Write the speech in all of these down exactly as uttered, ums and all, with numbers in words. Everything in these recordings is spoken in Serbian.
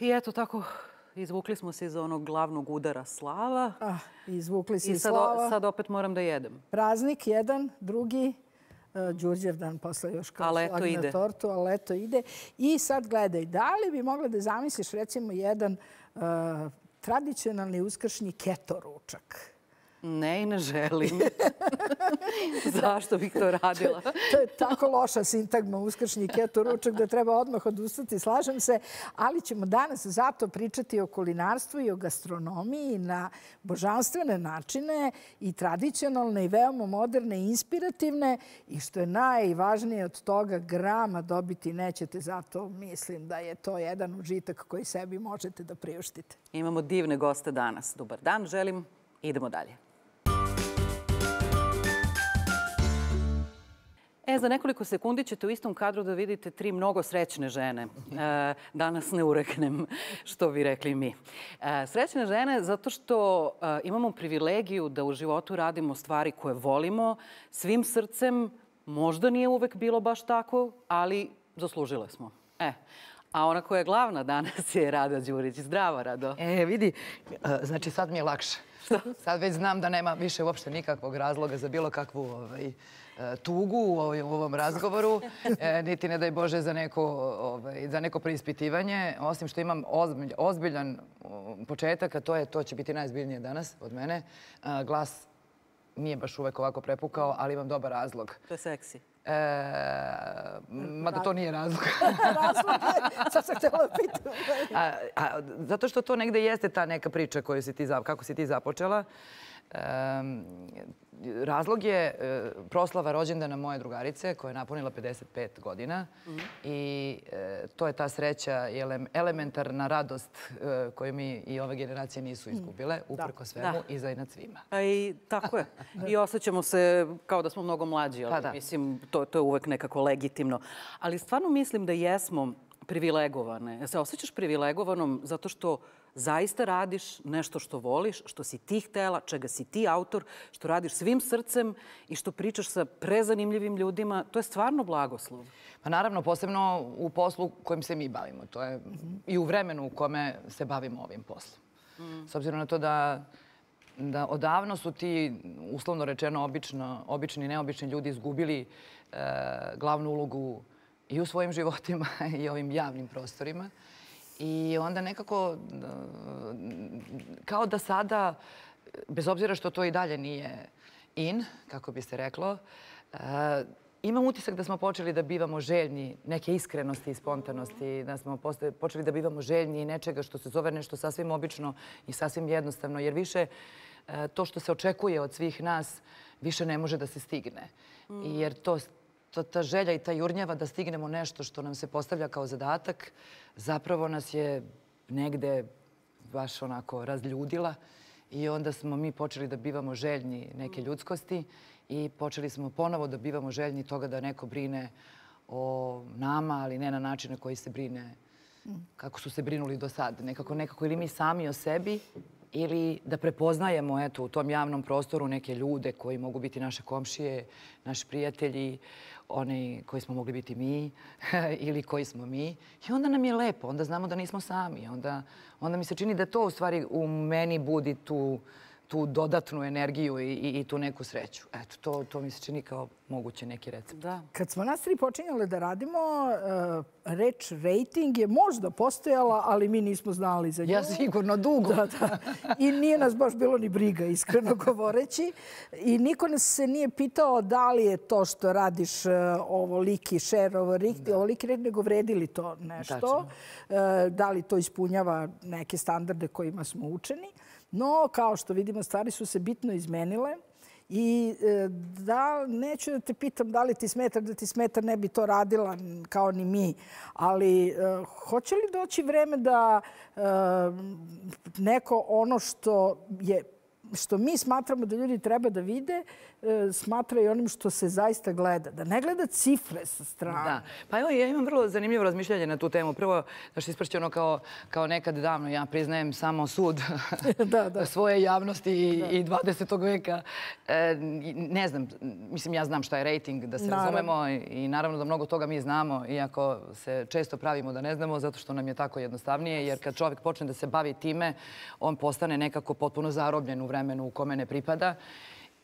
I eto tako, izvukli smo se iz onog glavnog udara slava. Ah, izvukli se I iz sad, slava. sad opet moram da jedem. Praznik jedan, drugi, Đurđev dan posle još kao šlag na tortu, ali leto ide. I sad gledaj, da li bi mogla da zamisliš recimo jedan uh, tradicionalni uskršnji keto ručak? Ne i ne želim. Zašto bih to radila? To je tako loša sintagma uskršnji keto ručak da treba odmah odustati, slažem se. Ali ćemo danas zato pričati o kulinarstvu i o gastronomiji na božanstvene načine i tradicionalne i veoma moderne i inspirativne. I što je najvažnije od toga, grama dobiti nećete. Zato mislim da je to jedan užitak koji sebi možete da priuštite. Imamo divne goste danas. Dobar dan, želim. Idemo dalje. E, za nekoliko sekundi ćete u istom kadru da vidite tri mnogo srećne žene. E, danas ne ureknem, što bi rekli mi. E, srećne žene zato što e, imamo privilegiju da u životu radimo stvari koje volimo svim srcem. Možda nije uvek bilo baš tako, ali zaslužile smo. E, a ona koja je glavna danas je Rada Đurić. Zdravo, Rado. E, vidi, znači sad mi je lakše. Sad već znam da nema više uopšte nikakvog razloga za bilo kakvu ovaj, tugu u ovom razgovoru, niti ne daj Bože za neko, ovaj, za neko preispitivanje, osim što imam ozbilj, ozbiljan početak, a to je, to će biti najzbiljnije danas od mene. Glas nije baš uvek ovako prepukao, ali imam dobar razlog. To je seksi. E, mada to nije razlog. Razlog je, sad sam htjela pitam. A, a, zato što to negde jeste ta neka priča koju si ti, kako si ti započela. E, razlog je e, proslava rođendana moje drugarice koja je napunila pedeset pet godina. Mm. I e, to je ta sreća i ele, elementarna radost e, koju mi i ove generacije nisu izgubile, uprko svemu da. I za inad svima. A i tako je. I osjećamo se kao da smo mnogo mlađi, ali pa mislim, to, to je uvek nekako legitimno. Ali stvarno mislim da jesmo privilegovane. Se osjećaš privilegovanom zato što zaista radiš nešto što voliš, što si ti htela, čega si ti autor, što radiš svim srcem i što pričaš sa prezanimljivim ljudima. To je stvarno blagoslov. Pa naravno, posebno u poslu kojim se mi bavimo. To je mm-hmm. i u vremenu u kome se bavimo ovim poslom. Mm. S obzirom na to da, da odavno su ti, uslovno rečeno, obično, obični i neobični ljudi izgubili e, glavnu ulogu i u svojim životima i ovim javnim prostorima. I onda nekako, kao da sada, bez obzira što to i dalje nije in, kako bi se reklo, imam utisak da smo počeli da bivamo željni neke iskrenosti i spontanosti, da smo počeli da bivamo željni nečega što se zove nešto sasvim obično i sasvim jednostavno, jer više to što se očekuje od svih nas više ne može da se stigne. Jer to ta želja i ta jurnjava da stignemo nešto što nam se postavlja kao zadatak, zapravo nas je negde baš onako razljudila i onda smo mi počeli da bivamo željni neke ljudskosti i počeli smo ponovo da bivamo željni toga da neko brine o nama, ali ne na način na koji se brine kako su se brinuli do sad. Nekako, nekako ili mi sami o sebi ili da prepoznajemo eto, u tom javnom prostoru neke ljude koji mogu biti naše komšije, naši prijatelji, oni koji smo mogli biti mi ili koji smo mi. I onda nam je lepo, onda znamo da nismo sami. Onda, onda mi se čini da to u stvari u meni budi tu, tu dodatnu energiju i, i, i tu neku sreću. Eto, to, to mi se čini kao moguće neki recept. Da. Kad smo nas tri počinjali da radimo, uh, reč rating je možda postojala, ali mi nismo znali za nju. Ja sigurno dugo. Da, da. I nije nas baš bilo ni briga, iskreno govoreći. I niko nas se nije pitao da li je to što radiš uh, ovoliki share, ovoliki, ovoliki red, nego vredi li to nešto. Uh, da li to ispunjava neke standarde kojima smo učeni. No, kao što vidimo, stvari su se bitno izmenile. I da, neću da te pitam da li ti smeta, da ti smeta, ne bi to radila kao ni mi. Ali hoće li doći vreme da neko ono što je što mi smatramo da ljudi treba da vide, smatraju onim što se zaista gleda. Da ne gleda cifre sa strane. Da. Pa evo, ja imam vrlo zanimljivo razmišljanje na tu temu. Prvo, da što isprći ono kao, kao nekad davno, ja priznajem samo sud da, da. svoje javnosti i, i dvadesetog veka. E, ne znam, mislim, ja znam šta je rejting, da se naravno razumemo i naravno da mnogo toga mi znamo, iako se često pravimo da ne znamo, zato što nam je tako jednostavnije, jer kad čovjek počne da se bavi time, on postane nekako potpuno zarobljen u vremenu u kome ne pripada.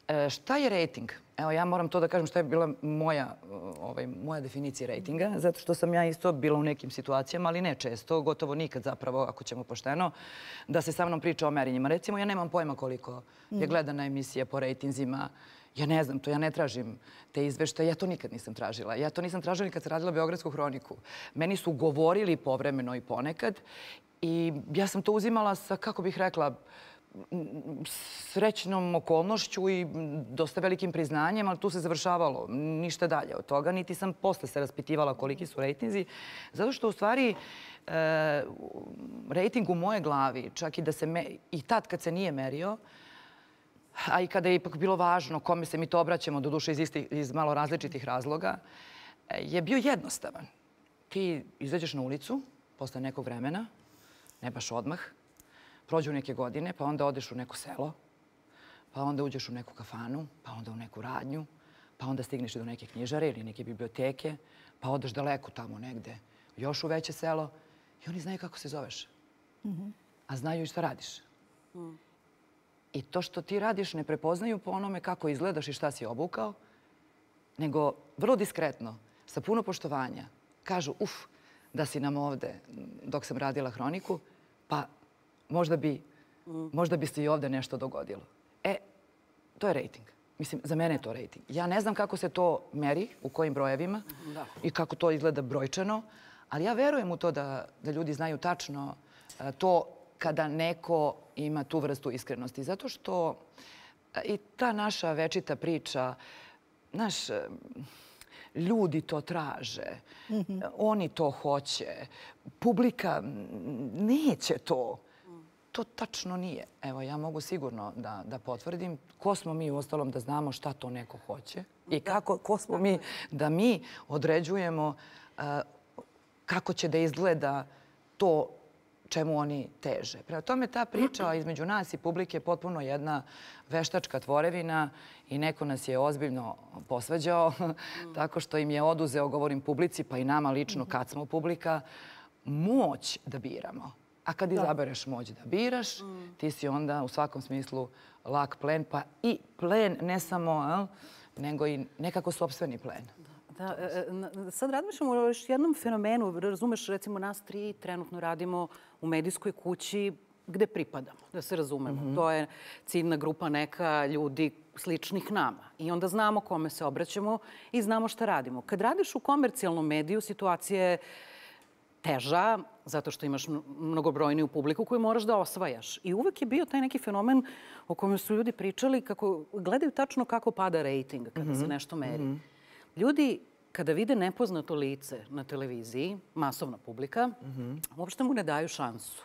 E, šta je rejting? Evo, ja moram to da kažem šta je bila moja, ovaj, moja definicija rejtinga, zato što sam ja isto bila u nekim situacijama, ali ne često, gotovo nikad zapravo, ako ćemo pošteno, da se sa mnom priča o merinjima. Recimo, ja nemam pojma koliko je gledana emisija po rejtinzima. Ja ne znam to, ja ne tražim te izveštaje, ja to nikad nisam tražila. Ja to nisam tražila ni kad sam radila Beogradsku hroniku. Meni su govorili povremeno i ponekad i ja sam to uzimala sa, kako bih rekla, srećnom okolnošću i dosta velikim priznanjem, ali tu se završavalo. Ništa dalje od toga. Niti sam posle se raspitivala koliki su rejtinzi. Zato što u stvari e, rejting u moje glavi, čak i da se me, i tad kad se nije merio, a i kada je ipak bilo važno kome se mi to obraćamo, doduše iz, isti, iz malo različitih razloga, je bio jednostavan. Ti izađeš na ulicu posle nekog vremena, ne baš odmah, prođu neke godine, pa onda odeš u neko selo, pa onda uđeš u neku kafanu, pa onda u neku radnju, pa onda stigneš do neke knjižare ili neke biblioteke, pa odeš daleko tamo negde, još u veće selo i oni znaju kako se zoveš. Mm-hmm. A znaju i šta radiš. Mm. I to što ti radiš ne prepoznaju po onome kako izgledaš i šta si obukao, nego vrlo diskretno, sa puno poštovanja, kažu, uf, da si nam ovde dok sam radila hroniku, pa možda bi, mm. možda bi se i ovde nešto dogodilo. E, to je rejting. Mislim, za mene je to rejting. Ja ne znam kako se to meri, u kojim brojevima da. I kako to izgleda brojčano, ali ja verujem u to da, da ljudi znaju tačno a, to kada neko ima tu vrstu iskrenosti. Zato što i ta naša večita priča, naš, ljudi to traže, mm-hmm. oni to hoće, publika neće to. To tačno nije. Evo, ja mogu sigurno da, da potvrdim. Ko smo mi u ostalom da znamo šta to neko hoće i kako, ko smo mi da mi određujemo uh, kako će da izgleda to čemu oni teže. Prema tome, ta priča između nas i publike je potpuno jedna veštačka tvorevina i neko nas je ozbiljno posvađao tako što im je oduzeo, govorim publici, pa i nama lično kad smo publika, moć da biramo. A kad izabereš moć da biraš, ti si onda u svakom smislu lak plen, pa i plen ne samo, nego i nekako sopstveni plen. Da, sad razmišljamo o još jednom fenomenu. Razumeš, recimo nas tri trenutno radimo u medijskoj kući gde pripadamo, da se razumemo. Mm-hmm. To je ciljna grupa neka ljudi sličnih nama. I onda znamo kome se obraćamo i znamo šta radimo. Kad radiš u komercijalnom mediju, situacija je teža, zato što imaš mnogobrojniju publiku koju moraš da osvajaš. I uvek je bio taj neki fenomen o kojem su ljudi pričali, kako gledaju tačno kako pada rejting kada mm-hmm. se nešto meri. Mm-hmm. Ljudi, kada vide nepoznato lice na televiziji, masovna publika, mm-hmm. uopšte mu ne daju šansu.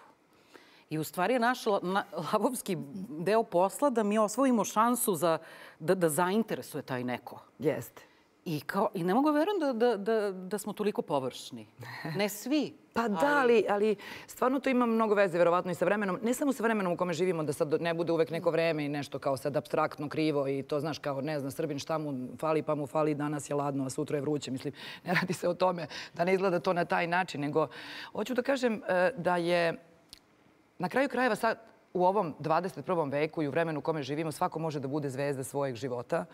I u stvari je naš la, lavovski deo posla da mi osvojimo šansu za, da, da zainteresuje taj neko. Jeste. I, kao, I ne mogu verujem da, da, da, da smo toliko površni. Ne svi. Pa da, ali, ali stvarno to ima mnogo veze, verovatno i sa vremenom. Ne samo sa vremenom u kome živimo, da sad ne bude uvek neko vreme i nešto kao sad apstraktno, krivo i to, znaš, kao ne zna Srbin šta mu fali, pa mu fali, danas je ladno, a sutra je vruće. Mislim, ne radi se o tome da ne izgleda to na taj način, nego hoću da kažem da je na kraju krajeva sad u ovom dvadeset prvom veku i u vremenu u kome živimo svako može da bude zvezda svojeg života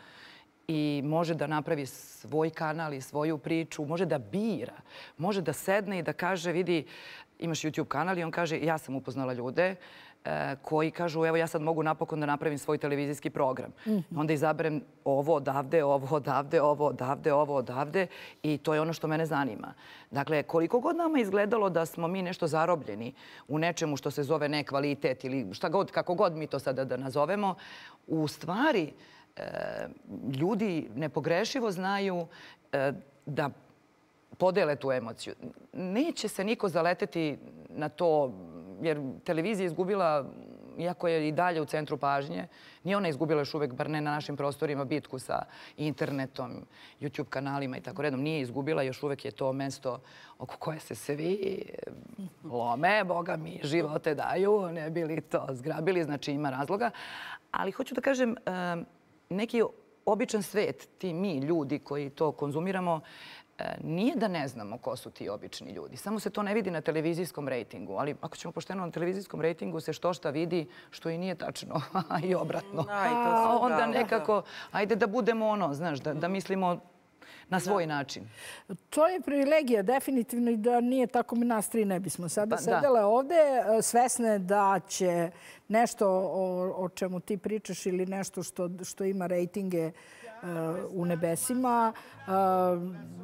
i može da napravi svoj kanal i svoju priču, može da bira, može da sedne i da kaže, vidi, imaš YouTube kanal i on kaže, ja sam upoznala ljude e, koji kažu, evo ja sad mogu napokon da napravim svoj televizijski program. Mm-hmm. Onda izaberem ovo odavde, ovo odavde, ovo odavde, ovo odavde i to je ono što mene zanima. Dakle, koliko god nama izgledalo da smo mi nešto zarobljeni u nečemu što se zove nekvalitet ili šta god, kako god mi to sada da nazovemo, u stvari ljudi nepogrešivo znaju da podele tu emociju. Neće se niko zaleteti na to, jer televizija je izgubila iako je i dalje u centru pažnje, nije ona izgubila još uvek, bar ne na našim prostorima, bitku sa internetom, YouTube kanalima i tako redom. Nije izgubila, još uvek je to mesto oko koje se svi lome, boga mi, živote daju, ne bi li to zgrabili, znači ima razloga. Ali hoću da kažem, neki običan svet, ti mi, ljudi koji to konzumiramo, nije da ne znamo ko su ti obični ljudi. Samo se to ne vidi na televizijskom rejtingu. Ali ako ćemo pošteno na televizijskom rejtingu se što šta vidi, što i nije tačno i obratno. A onda nekako, ajde da budemo ono, znaš, da mislimo na svoj način. To je privilegija, definitivno, i da nije tako mi nas tri ne bismo sada sedele ovde, svesne da će nešto o čemu ti pričaš ili nešto što ima rejtinge u nebesima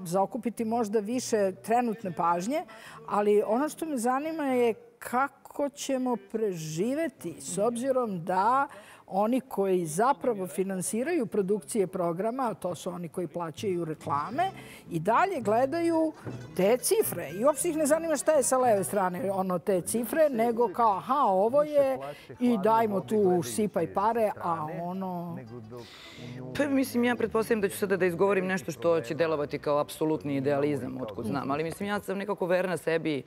zaokupiti možda više trenutne pažnje, ali ono što me zanima je kako ćemo preživeti s obzirom da oni koji zapravo finansiraju produkcije programa, a to su oni koji plaćaju reklame, i dalje gledaju te cifre. I uopšte ih ne zanima šta je sa leve strane ono te cifre, nego kao, aha, ovo je i dajmo tu sipaj pare, a ono... Pa mislim, ja pretpostavljam da ću sada da izgovorim nešto što će delovati kao apsolutni idealizam, otkud znam. Ali mislim, ja sam nekako verna sebi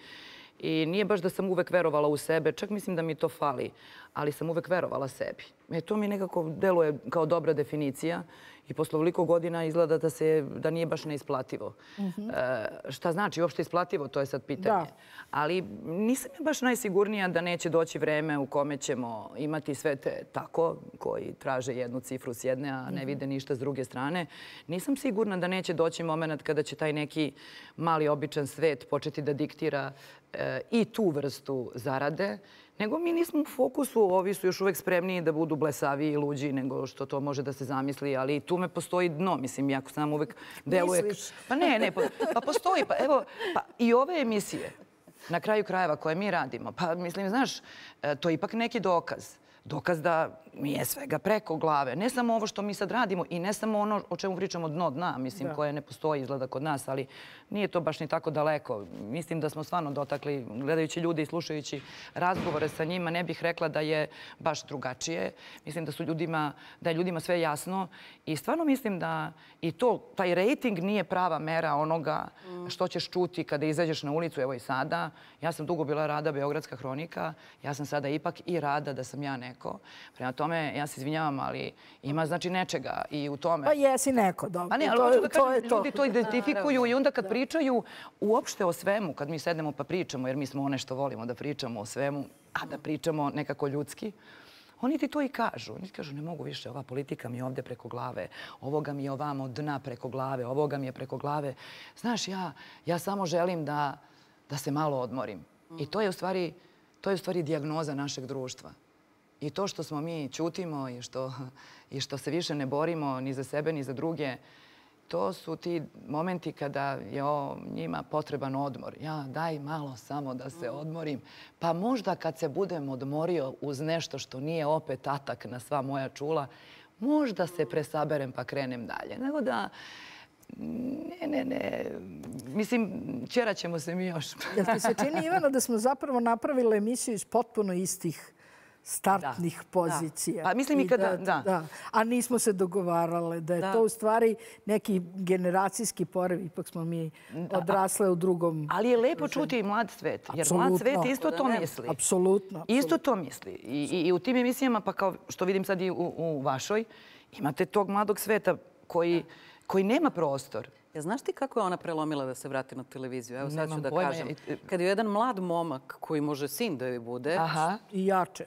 i nije baš da sam uvek verovala u sebe, čak mislim da mi to fali, ali sam uvek verovala sebi. E, to mi nekako deluje kao dobra definicija i posle ovoliko godina izgleda da, se, da nije baš neisplativo. Mm-hmm. e, šta znači uopšte isplativo, to je sad pitanje. Da. Ali nisam ja baš najsigurnija da neće doći vreme u kome ćemo imati sve te tako, koji traže jednu cifru s jedne, a ne vide ništa s druge strane. Nisam sigurna da neće doći moment kada će taj neki mali običan svet početi da diktira e, i tu vrstu zarade, nego mi nismo u fokusu, ovi su još uvek spremniji da budu blesaviji i luđi nego što to može da se zamisli, ali tu me postoji dno, mislim, jako sam uvek deluje... Misliš? Pa ne, ne, pa postoji, pa evo, pa i ove emisije, na kraju krajeva koje mi radimo, pa mislim, znaš, to je ipak neki dokaz. Dokaz da mi je svega preko glave. Ne samo ovo što mi sad radimo i ne samo ono o čemu pričamo dno dna, mislim, koje ne postoji izgleda kod nas, ali nije to baš ni tako daleko. Mislim da smo stvarno dotakli, gledajući ljude i slušajući razgovore sa njima, ne bih rekla da je baš drugačije. Mislim da su ljudima, da je ljudima sve jasno i stvarno mislim da i to, taj rejting nije prava mera onoga što ćeš čuti kada izađeš na ulicu, evo i sada. Ja sam dugo bila Rada, Beogradska hronika, ja sam sada ipak i Rada da sam ja neko. Prema tome, ja se izvinjavam, ali ima znači nečega i u tome. Pa jesi neko, dobro. Pa ne, ali hoću da kažem, ljudi to identifikuju i onda kad pričaju uopšte o svemu, kad mi sednemo pa pričamo, jer mi smo one što volimo da pričamo o svemu, a da pričamo nekako ljudski, oni ti to i kažu. Oni ti kažu, ne mogu više, ova politika mi je ovde preko glave, ovoga mi je ovamo dna preko glave, ovoga mi je preko glave. Znaš, ja, ja samo želim da, da se malo odmorim. I to je u stvari, to je u stvari dijagnoza našeg društva. I to što smo mi ćutimo i što, i što se više ne borimo ni za sebe ni za druge, to su ti momenti kada je o njima potreban odmor. Ja daj malo samo da se odmorim. Pa možda kad se budem odmorio uz nešto što nije opet atak na sva moja čula, možda se presaberem pa krenem dalje. Nego da... Ne, ne, ne. Mislim, ćerat ćemo se mi još. Jel ti se čini, Ivano, da smo zapravo napravili emisiju iz potpuno istih startnih da, pozicija. Da. Pa mislim i kada, da, da. A nismo se dogovarale da je da. to u stvari neki generacijski porev. Ipak smo mi da. odrasle u drugom... Ali je lepo čuti i mlad svet. Jer absolutno. Mlad svet isto to misli. Apsolutno. Isto to misli. I, i, i u tim emisijama, pa kao što vidim sad i u, u vašoj, imate tog mladog sveta koji, koji nema prostor. Ja, znaš ti kako je ona prelomila da se vrati na televiziju? Evo sad ću da kažem. Kad je jedan mlad momak koji može sin da joj bude... Aha. I jače.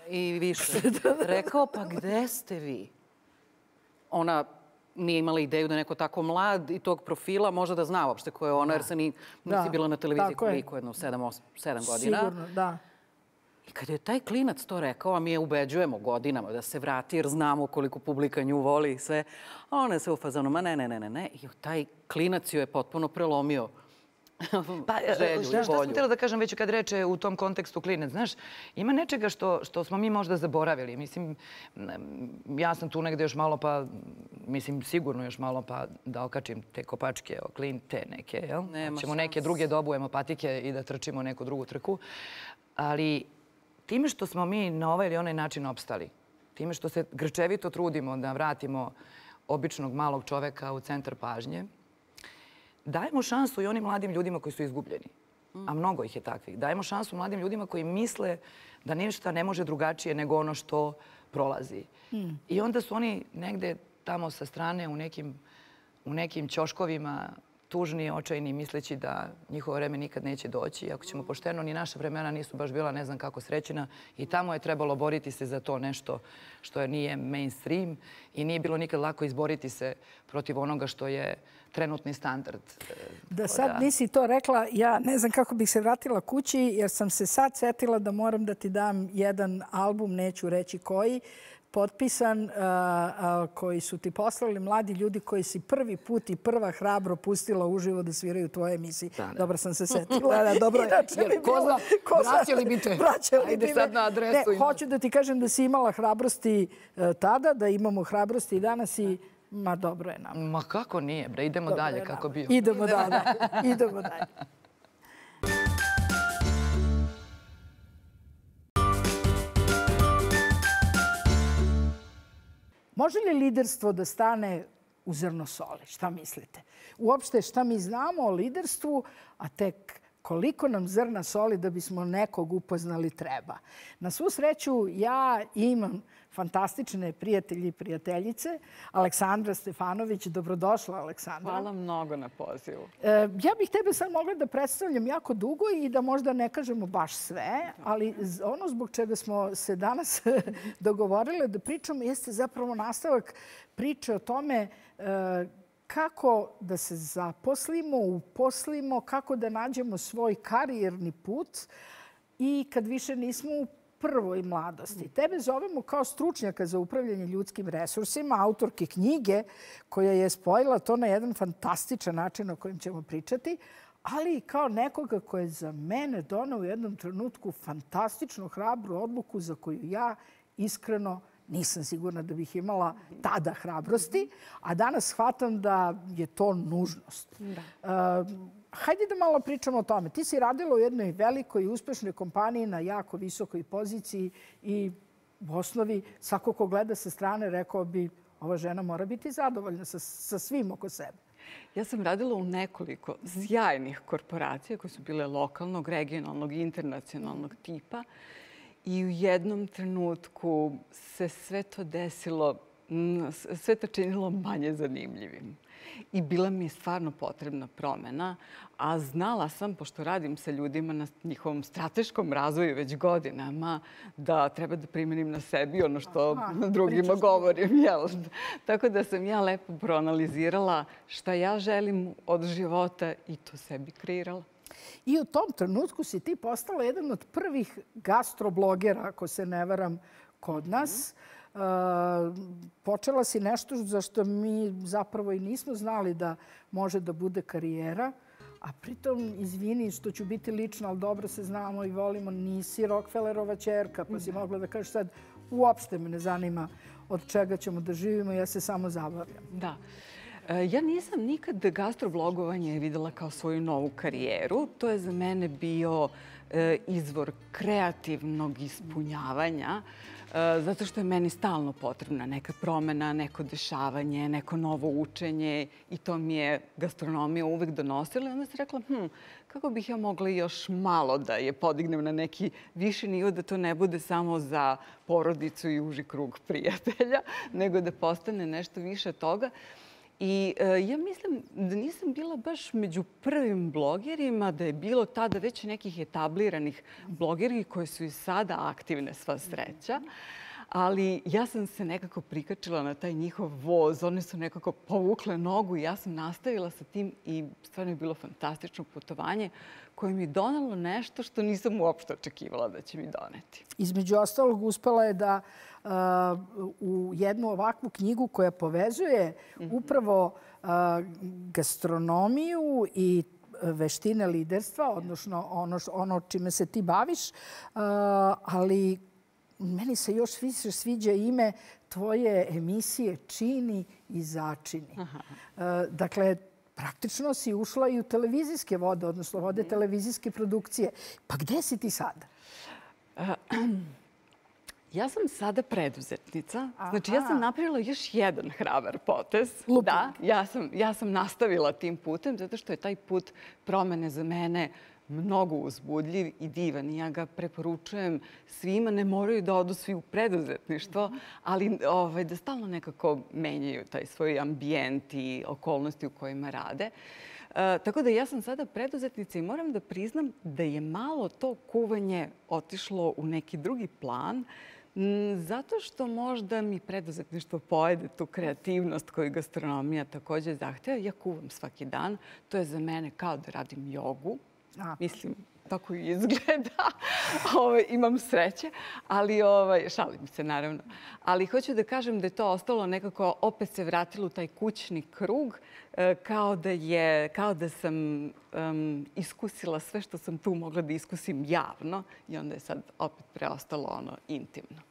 I više. Rekao, pa gde ste vi? Ona nije imala ideju da neko tako mlad i tog profila može da zna uopšte ko je ona, jer se ni, nisi bila na televiziji koliko, jedno sedam, osam, sedam godina. Sigurno, da. I kad je taj klinac to rekao, a mi je ubeđujemo godinama da se vrati, jer znamo koliko publika nju voli i sve, a ona je sve u fazonu, ma ne, ne, ne, ne, ne. I taj klinac ju je potpuno prelomio. Pa, želju, šta sam htjela da kažem već kad reče u tom kontekstu klinac, znaš, ima nečega što, što smo mi možda zaboravili. Mislim, ja sam tu negde još malo pa, mislim, sigurno još malo pa da okačim te kopačke, oklin, te neke, jel? Nema ćemo neke druge da obujemo patike i da trčimo neku drugu trku. Ali time što smo mi na ovaj ili onaj način opstali, time što se grčevito trudimo da vratimo običnog malog čoveka u centar pažnje, dajemo šansu i onim mladim ljudima koji su izgubljeni. A mnogo ih je takvih. Dajemo šansu mladim ljudima koji misle da ništa ne može drugačije nego ono što prolazi. I onda su oni negde tamo sa strane u nekim, u nekim ćoškovima tužni, očajni, misleći da njihovo vreme nikad neće doći. Ako ćemo pošteno, ni naša vremena nisu baš bila ne znam kako srećena i tamo je trebalo boriti se za to nešto što nije mainstream i nije bilo nikad lako izboriti se protiv onoga što je trenutni standard. Da sad nisi to rekla, ja ne znam kako bih se vratila kući jer sam se sad setila da moram da ti dam jedan album, neću reći koji, potpisan, koji su ti poslali mladi ljudi koji si prvi put i prva hrabro pustila uživo da sviraju u tvojoj emisiji. Dobro sam se setila. Da, dobro. Ko zna, vraćali bi te. Ajde sad na adresu. Ne, hoću da ti kažem da si imala hrabrosti tada, da imamo hrabrosti i danas i ma dobro je nam. Ma kako nije, bre, idemo dalje kako bio. Idemo dalje, idemo dalje. Može li liderstvo da stane u zrno soli? Šta mislite? Uopšte šta mi znamo o liderstvu, a tek koliko nam zrna soli da bismo nekog upoznali treba. Na svu sreću ja imam fantastične prijatelji i prijateljice. Aleksandra Stefanović, dobrodošla Aleksandra. Hvala mnogo na pozivu. Ja bih tebe sad mogla da predstavljam jako dugo i da možda ne kažemo baš sve, ali ono zbog čega smo se danas dogovorile da pričamo jeste zapravo nastavak priče o tome kako da se zaposlimo, uposlimo, kako da nađemo svoj karijerni put i kad više nismo u prvoj mladosti. Tebe zovemo kao stručnjaka za upravljanje ljudskim resursima, autorke knjige koja je spojila to na jedan fantastičan način o kojem ćemo pričati, ali i kao nekoga koja je za mene donao u jednom trenutku fantastičnu, hrabru odluku za koju ja iskreno nisam sigurna da bih imala tada hrabrosti, a danas shvatam da je to nužnost. Hajde da malo pričamo o tome. Ti si radila u jednoj velikoj i uspešnoj kompaniji na jako visokoj poziciji i u osnovi svako ko gleda sa strane rekao bi ova žena mora biti zadovoljna sa, sa svim oko sebe. Ja sam radila u nekoliko sjajnih korporacija koje su bile lokalnog, regionalnog i internacionalnog tipa. I u jednom trenutku se sve to desilo, sve to činilo manje zanimljivim. I bila mi je stvarno potrebna promena, a znala sam, pošto radim sa ljudima na njihovom strateškom razvoju već godinama, da treba da primenim na sebi ono što Aha, drugima govorim. Jel? Tako da sam ja lepo proanalizirala šta ja želim od života i to sebi kreirala. I u tom trenutku si ti postala jedan od prvih gastroblogera, ako se ne varam, kod nas. Uh, počela si nešto za što mi zapravo i nismo znali da može da bude karijera. A pritom, izvini što ću biti lična, ali dobro se znamo i volimo, nisi Rockefellerova ćerka, pa si mogla da kažeš sad uopšte me ne zanima od čega ćemo da živimo, ja se samo zabavljam. Da. Ja nisam nikad gastroblogovanje videla kao svoju novu karijeru. To je za mene bio izvor kreativnog ispunjavanja, zato što je meni stalno potrebna neka promena, neko dešavanje, neko novo učenje i to mi je gastronomija uvek donosila. I onda sam rekla, hm, kako bih ja mogla još malo da je podignem na neki viši nivo, da to ne bude samo za porodicu i uži krug prijatelja, nego da postane nešto više toga. I ja mislim da nisam bila baš među prvim blogerima, da je bilo tada već nekih etabliranih blogeri koji su i sada aktivne, sva sreća. Ali ja sam se nekako prikačila na taj njihov voz. One su nekako povukle nogu i ja sam nastavila sa tim i stvarno je bilo fantastično putovanje koje mi je donalo nešto što nisam uopšte očekivala da će mi doneti. Između ostalog, uspela je da uh, u jednu ovakvu knjigu koja povezuje upravo uh, gastronomiju i veštine liderstva, odnosno ono, ono čime se ti baviš, uh, ali meni se još više sviđa ime tvoje emisije Čini i začini. Uh, dakle, praktično si ušla i u televizijske vode, odnosno vode televizijske produkcije. Pa gde si ti sada? Ja sam sada preduzetnica. Znači, ja sam napravila još jedan hrabar potez. Da, ja sam, ja sam nastavila tim putem, zato što je taj put promene za mene mnogo uzbudljiv i divan. I ja ga preporučujem svima. Ne moraju da odu svi u preduzetništvo, ali ovaj, da stalno nekako menjaju taj svoj ambijent i okolnosti u kojima rade. E, tako da ja sam sada preduzetnica i moram da priznam da je malo to kuvanje otišlo u neki drugi plan, zato što možda mi preduzetništvo pojede tu kreativnost koju gastronomija također zahteva. Ja kuvam svaki dan. To je za mene kao da radim jogu. A. Mislim, tako i izgleda. Ove, imam sreće, ali ovaj, šalim se naravno. Ali hoću da kažem da je to ostalo nekako, opet se vratilo u taj kućni krug, kao da, je, kao da sam um, iskusila sve što sam tu mogla da iskusim javno i onda je sad opet preostalo ono intimno.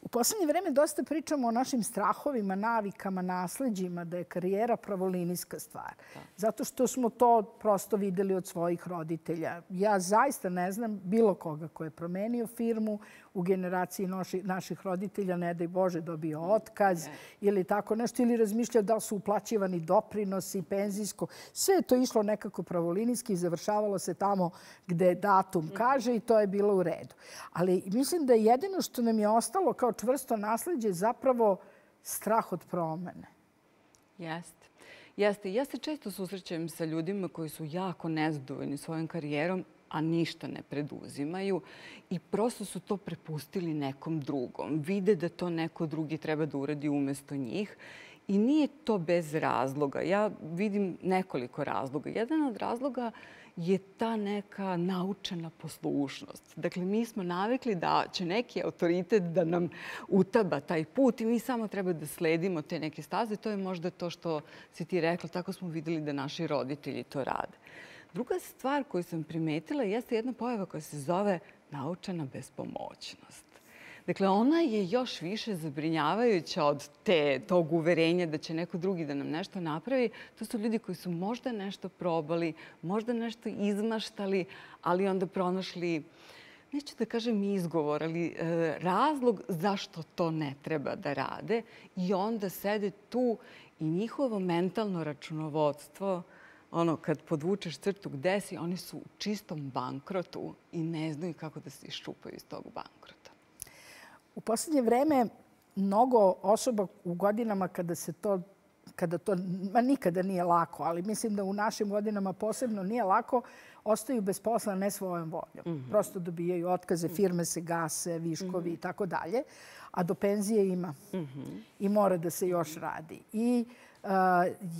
U poslednje vreme dosta pričamo o našim strahovima, navikama, nasleđima, da je karijera pravolinijska stvar. Zato što smo to prosto videli od svojih roditelja. Ja zaista ne znam bilo koga ko je promenio firmu u generaciji noši, naših roditelja, ne daj Bože, dobio otkaz ili tako nešto, ili razmišljao da li su uplaćivani doprinosi, penzijsko. Sve je to išlo nekako pravolinijski i završavalo se tamo gde datum kaže i to je bilo u redu. Ali mislim da jedino što nam je ostalo kao čvrsto nasleđe zapravo strah od promene. Jeste. Jeste. Ja se često susrećem sa ljudima koji su jako nezadovoljni svojom karijerom, a ništa ne preduzimaju i prosto su to prepustili nekom drugom. Vide da to neko drugi treba da uradi umesto njih i nije to bez razloga. Ja vidim nekoliko razloga. Jedan od razloga je ta neka naučena poslušnost. Dakle, mi smo navikli da će neki autoritet da nam utaba taj put i mi samo treba da sledimo te neke staze. To je možda to što si ti rekla. Tako smo videli da naši roditelji to rade. Druga stvar koju sam primetila jeste jedna pojava koja se zove naučena bespomoćnost. Dakle, ona je još više zabrinjavajuća od te, tog uverenja da će neko drugi da nam nešto napravi. To su ljudi koji su možda nešto probali, možda nešto izmaštali, ali onda pronašli, neću da kažem izgovor, ali e, razlog zašto to ne treba da rade. I onda sede tu i njihovo mentalno računovodstvo, ono, kad podvučeš crtu gde si, oni su u čistom bankrotu i ne znaju kako da se iščupaju iz tog bankrota. U poslednje vreme mnogo osoba u godinama kada se to, kada to ma nikada nije lako, ali mislim da u našim godinama posebno nije lako, ostaju bez posla ne svojom voljom. Mm-hmm. Prosto dobijaju otkaze, firme se gase, viškovi mm-hmm. i tako dalje, a do penzije ima. Mm-hmm. I mora da se još radi. I Uh,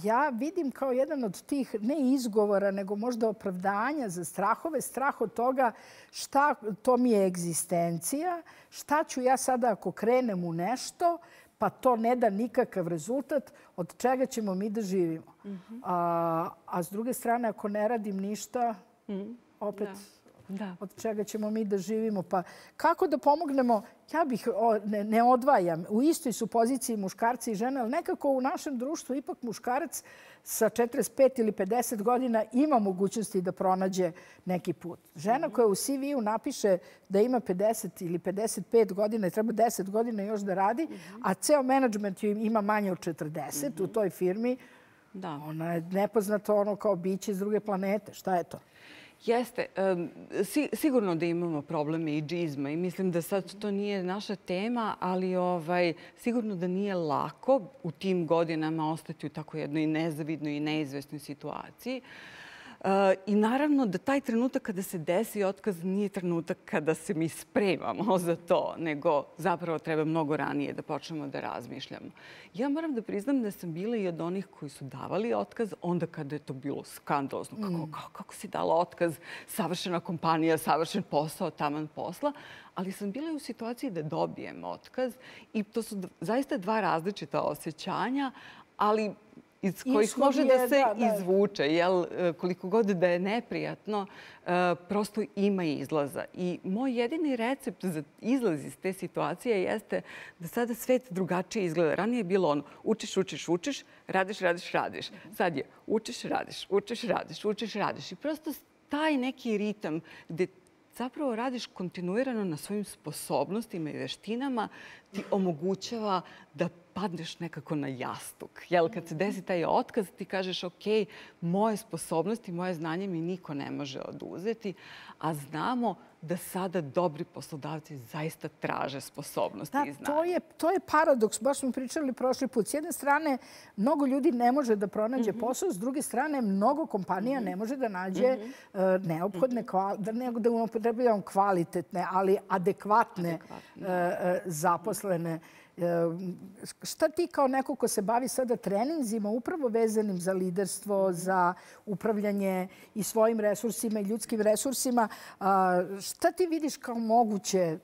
ja vidim kao jedan od tih, ne izgovora, nego možda opravdanja za strahove, strah od toga šta to mi je egzistencija, šta ću ja sada ako krenem u nešto, pa to ne da nikakav rezultat, od čega ćemo mi da živimo. Mm-hmm. a, a s druge strane, ako ne radim ništa, mm-hmm. opet... Da. Da. Od čega ćemo mi da živimo. Pa kako da pomognemo? Ja bih ne, ne odvajam. U istoj su poziciji muškarci i žene, ali nekako u našem društvu ipak muškarac sa četrdeset pet ili pedeset godina ima mogućnosti da pronađe neki put. Žena koja u C V-u napiše da ima pedeset ili pedeset pet godina i treba deset godina još da radi, a ceo menadžment ima manje od četrdeset u toj firmi, da. Ona je nepoznato ono kao biće iz druge planete. Šta je to? Jeste. Sigurno da imamo probleme i džizma i mislim da sad to nije naša tema, ali ovaj, sigurno da nije lako u tim godinama ostati u tako jednoj nezavidnoj i neizvesnoj situaciji. I naravno da taj trenutak kada se desi otkaz nije trenutak kada se mi spremamo za to, nego zapravo treba mnogo ranije da počnemo da razmišljamo. Ja moram da priznam da sam bila i od onih koji su davali otkaz onda kada je to bilo skandalozno. Kako, kako, kako si dala otkaz, savršena kompanija, savršen posao, taman posla, ali sam bila i u situaciji da dobijem otkaz i to su zaista dva različita osjećanja, ali iz kojih može da se izvuče. Jel, koliko god da je neprijatno, prosto ima izlaza. I moj jedini recept za izlaz iz te situacije jeste da sada svet drugačije izgleda. Ranije je bilo ono, učiš, učiš, učiš, radiš, radiš, radiš. Sad je učiš, radiš, učiš, radiš, učiš, radiš. I prosto taj neki ritam gde zapravo radiš kontinuirano na svojim sposobnostima i veštinama, ti omogućava da padneš nekako na jastuk. Jel, kad se desi taj otkaz, ti kažeš, ok, moje sposobnosti, moje znanje mi niko ne može oduzeti, a znamo da sada dobri poslodavci zaista traže sposobnosti i znanje. To je, to je paradoks. Baš smo pričali prošli put. S jedne strane, mnogo ljudi ne može da pronađe posao, s druge strane, mnogo kompanija ne može da nađe neophodne, da ne da upotrebljavam kvalitetne, ali adekvatne zaposlene. Šta ti kao neko ko se bavi sada treninzima upravo vezanim za liderstvo, za upravljanje i svojim resursima i ljudskim resursima, šta ti vidiš kao moguće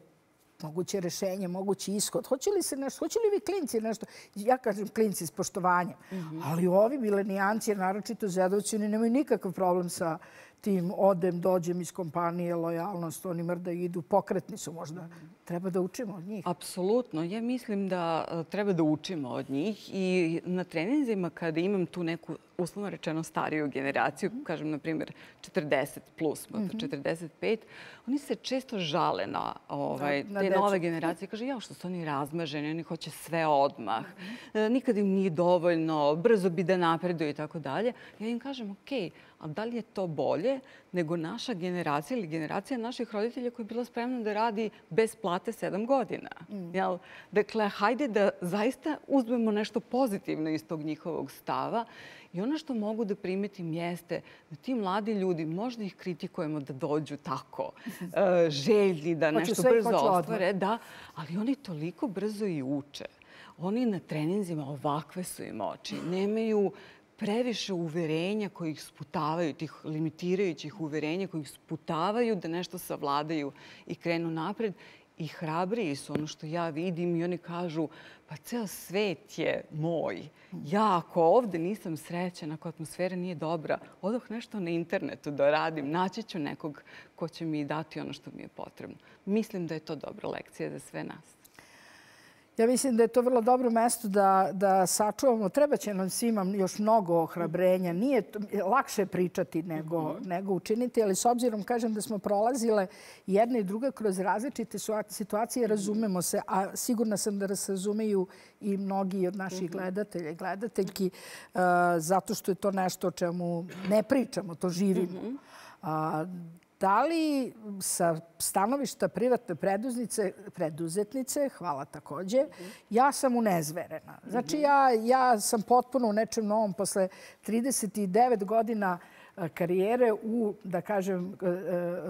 moguće rešenje, mogući ishod? Hoće li se nešto, hoće li vi klinci nešto? Ja kažem klinci s poštovanjem, ali ovi milenijanci, naročito Zedovci, oni nemaju nikakav problem sa tim odem, dođem iz kompanije, lojalnost, oni mrda idu, pokretni su možda. Treba da učimo od njih. Apsolutno. Ja mislim da treba da učimo od njih i na treninzima kada imam tu neku, uslovno rečeno, stariju generaciju, kažem, na primjer, četrdeset plus, četrdeset pet, oni se često žale na te nove generacije. Kaže, ja, što su oni razmaženi, oni hoće sve odmah, nikad im nije dovoljno, brzo bi da napreduju i tako dalje. Ja im kažem, ok, a da li je to bolje nego naša generacija ili generacija naših roditelja koja je bila spremna da radi bez plate sedam godina? Dakle, hajde da zaista uzmemo nešto pozitivno iz tog njihovog stava. I ono što mogu da primetim jeste da ti mladi ljudi, možda ih kritikujemo da dođu tako željni da nešto brzo ostvare, ali oni toliko brzo i uče. Oni na treninzima ovakve su im oči. Nemaju previše uverenja koji ih sputavaju, tih limitirajućih uverenja koji ih sputavaju da nešto savladaju i krenu napred. I hrabriji su, ono što ja vidim, i oni kažu, pa ceo svet je moj. Ja ako ovde nisam srećena, ako atmosfera nije dobra, odoh nešto na internetu da radim, naći ću nekog ko će mi dati ono što mi je potrebno. Mislim da je to dobra lekcija za sve nas. Ja mislim da je to vrlo dobro mesto da, da sačuvamo. Treba će nam svima još mnogo ohrabrenja. Nije lakše pričati nego, nego učiniti, ali s obzirom, kažem, da smo prolazile jedna i druga kroz različite situacije, razumemo se, a sigurna sam da nas razumeju i mnogi od naših gledatelja i gledateljki, uh, zato što je to nešto o čemu ne pričamo, to živimo. Uh, Da li sa stanovišta privatne preduzetnice, hvala takođe, ja sam unezverena. Znači, ja, ja sam potpuno u nečem novom posle trideset devet godina karijere u, da kažem,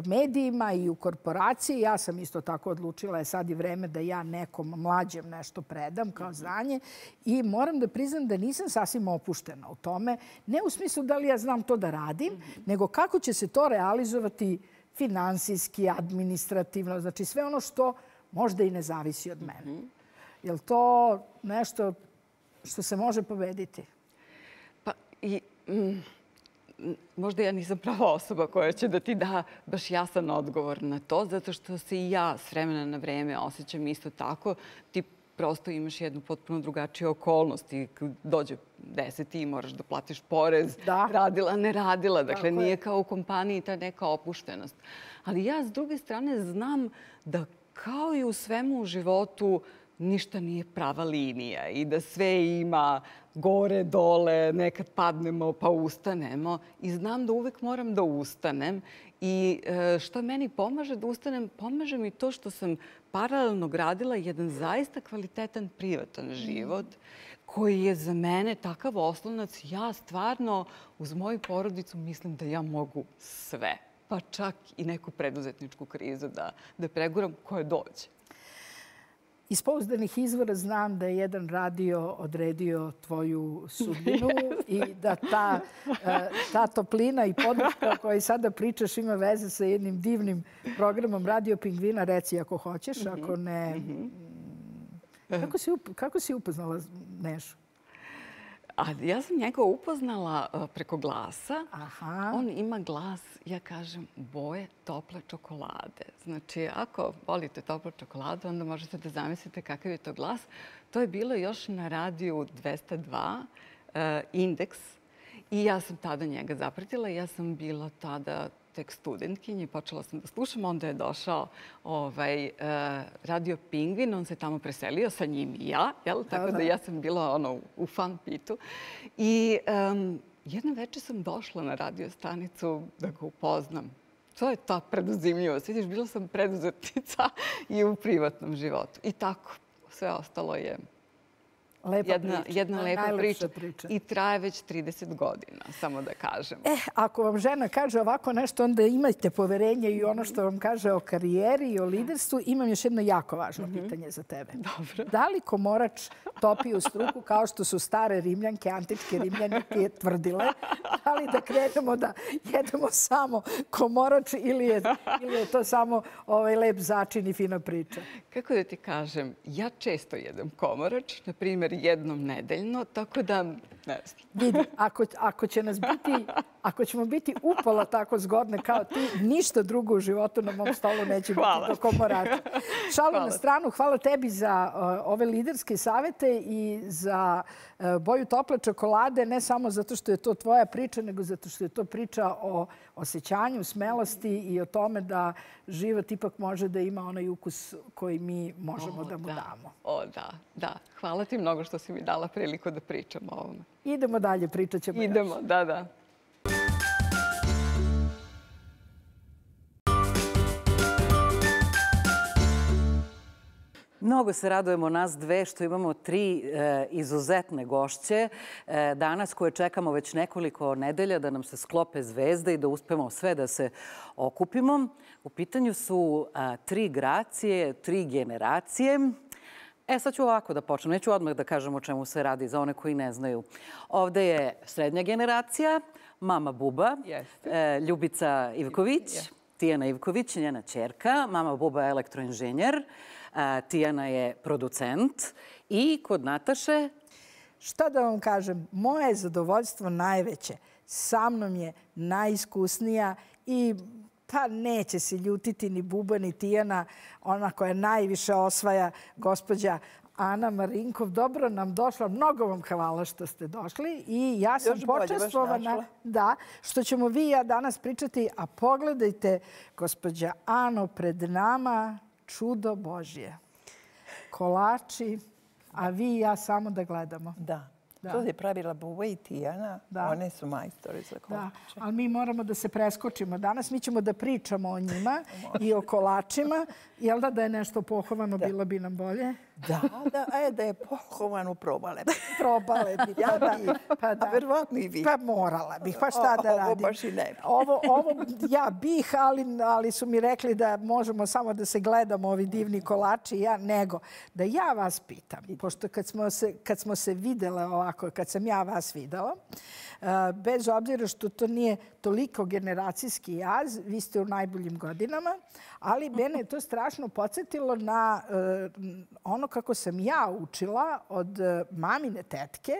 medijima i u korporaciji. Ja sam isto tako odlučila, je sad i vreme da ja nekom mlađem nešto predam kao znanje i moram da priznam da nisam sasvim opuštena u tome. Ne u smislu da li ja znam to da radim, nego kako će se to realizovati finansijski, administrativno, znači sve ono što možda i ne zavisi od mene. Je li to nešto što se može pobediti? Pa i... Možda ja nisam prava osoba koja će da ti da baš jasan odgovor na to, zato što se i ja s vremena na vreme osjećam isto tako. Ti prosto imaš jednu potpuno drugačiju okolnost i dođe deseti i moraš da platiš porez, radila, ne radila. Dakle, nije kao u kompaniji ta neka opuštenost. Ali ja s druge strane znam da kao i u svemu u životu ništa nije prava linija i da sve ima gore, dole, nekad padnemo pa ustanemo. I znam da uvek moram da ustanem. I što meni pomaže da ustanem, pomaže mi to što sam paralelno gradila jedan zaista kvalitetan privatan život koji je za mene takav oslonac. Ja stvarno uz moju porodicu mislim da ja mogu sve, pa čak i neku preduzetničku krizu da, da preguram koje dođe. Iz pouzdanih izvora znam da je jedan radio odredio tvoju sudbinu i da ta, ta toplina i podrška o kojoj sada pričaš ima veze sa jednim divnim programom Radio Pingvina. Reci ako hoćeš, ako ne... Kako si, kako si upoznala Nešu? A ja sam njega upoznala preko glasa. Aha. On ima glas, ja kažem, boje tople čokolade. Znači, ako volite toplu čokoladu, onda možete da zamislite kakav je to glas. To je bilo još na radiju dvesta dva, uh, Indeks. I ja sam tada njega zapratila. Ja sam bila tada tek studentkinja i počela sam da slušam. Onda je došao ovaj, uh, Radio Pingvin, on se tamo preselio, sa njim i ja, jel? Tako da ja sam bila ono, u fan pitu. I um, jedno večer sam došla na radio stanicu da ga upoznam. To je ta preduzimljivost. Vidiš, bila sam preduzetnica i u privatnom životu. I tako, sve ostalo je Lepa jedna, priča. jedna lepa Najlepša priča. priča. I traje već trideset godina, samo da kažem. E, ako vam žena kaže ovako nešto, onda imajte poverenje i ono što vam kaže o karijeri i o liderstvu. Imam još jedno jako važno pitanje za tebe. Dobro. Da li komorač topi u struku kao što su stare Rimljanke, antičke Rimljanke tvrdile? Da li da krenemo da jedemo samo komorač ili je, ili je to samo ovaj lep začin i fina priča? Kako da ti kažem, ja često jedem komorač, na primjer jednom nedeljno, tako da ne znam. Vidi, ako, ako će nas biti, ako ćemo biti upola tako zgodne kao ti, ništa drugo u životu na mom stolu neće Hvala. biti do komorača. Šalu Hvala. na stranu, hvala tebi za uh, ove liderske savete i za uh, boju tople čokolade, ne samo zato što je to tvoja priča, nego zato što je to priča o osjećanju, smelosti i o tome da život ipak može da ima onaj ukus koji mi možemo O, da mu da. damo. O, da, da. Hvala ti mnogo što si mi dala priliku da pričam o ovome. Idemo dalje, pričat ćemo još. Idemo, da, da. Mnogo se radujemo nas dve što imamo tri e, izuzetne gošće e, danas koje čekamo već nekoliko nedelja da nam se sklope zvezde i da uspemo sve da se okupimo. U pitanju su a, tri gracije, tri generacije. E, sad ću ovako da počnem. Neću odmah da kažem o čemu se radi za one koji ne znaju. Ovde je srednja generacija, mama Buba, Jeste. e, Ljubica Ivković, Tijana Ivković, njena ćerka, mama Buba je elektroinženjer, a, Tijana je producent i kod Nataše... Šta da vam kažem, moje zadovoljstvo najveće. Sa mnom je najiskusnija i pa neće se ljutiti ni Buba ni Tijana, ona koja najviše osvaja, gospođa Ana Marinkov. Dobro nam došla. Mnogo vam hvala što ste došli i ja sam Još bolje baš počestvovana našla. da, što ćemo vi i ja danas pričati. A pogledajte, gospođa Ano, pred nama čudo Božje. Kolači, a vi i ja samo da gledamo. Da. Da. To je pravila Buba i Tijana. Da. One su majstori za Da, kolače. ali mi moramo da se preskočimo. Danas mi ćemo da pričamo o njima i o kolačima. Jel da da je nešto pohovano, bilo bi nam bolje? Da, da, e, da je pohovanu probale. Probale bi. Ja da, bi, pa a verovatno i vi. Pa morala bih, pa šta da Ovo radim? baš i ne bi. Ovo, ovo ja bih, ali, ali su mi rekli da možemo samo da se gledamo ovi divni kolači, ja nego. Da ja vas pitam, pošto kad smo se, kad smo se videle ovako, kad sam ja vas videla, uh, bez obzira što to nije toliko generacijski jaz, vi ste u najboljim godinama, ali mene je to strašno podsjetilo na uh, ono kako sam ja učila od uh, mamine tetke,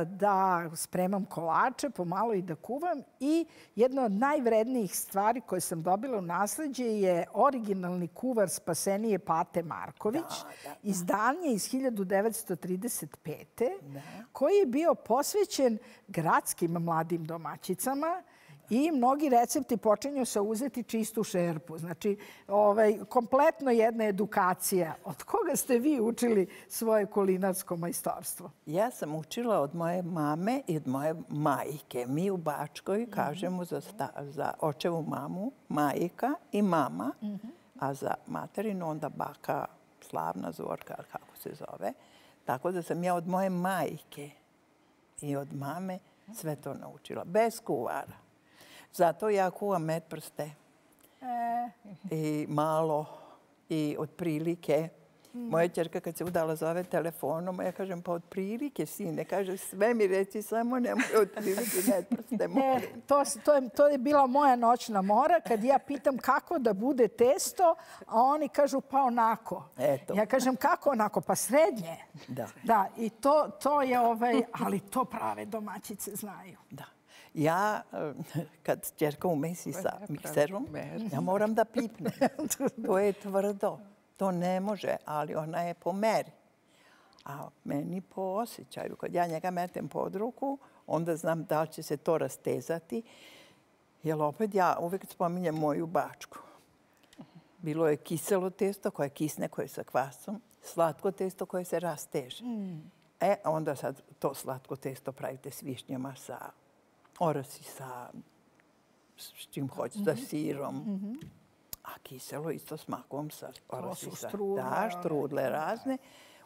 da spremam kolače, pomalo i da kuvam. I jedna od najvrednijih stvari koje sam dobila u nasleđe je originalni kuvar Spasenije Pate Marković, Da, da. izdanje iz hiljadu devetsto trideset pete. koji je bio posvećen gradskim mladim domaćicama. I mnogi recepti počinju sa uzeti čistu šerpu. Znači, ovaj, kompletno jedna edukacija. Od koga ste vi učili svoje kulinarsko majstorstvo? Ja sam učila od moje mame i od moje majke. Mi u Bačkoj kažemo za, sta, za očevu mamu majka i mama, a za materinu onda baka Slavna Zorka, kako se zove. Tako da sam ja od moje majke i od mame sve to naučila. Bez kuvara. Zato ja kuvam metprste E, i malo i otprilike. Moja ćerka kad se udala zove telefonom, ja kažem pa otprilike sine. Kaže sve mi reci, samo nemoj otprilike metprste. E, molim. to, to, je, to je bila moja noćna mora kad ja pitam kako da bude testo, a oni kažu pa onako. Eto. Ja kažem kako onako? Pa srednje. Da. Da, i to, to je ovaj, ali to prave domaćice znaju. Da. Ja, eh, kad ćerka umesi sa mikserom, ja moram da pipnem. To je tvrdo. To ne može, ali ona je po meri. A meni po osjećaju. Kad ja njega metem pod ruku, onda znam da li će se to rastezati Jer opet ja uvek spominjem moju Bačku. Bilo je kiselo testo koje kisne, koje je sa kvasom, slatko testo koje se rasteže. E, onda sad to slatko testo pravite s višnjama, sa orasi, sa s čim hoćete, sa sirom. A kiselo isto s makom, sa orasi, sa da, štrudle razne.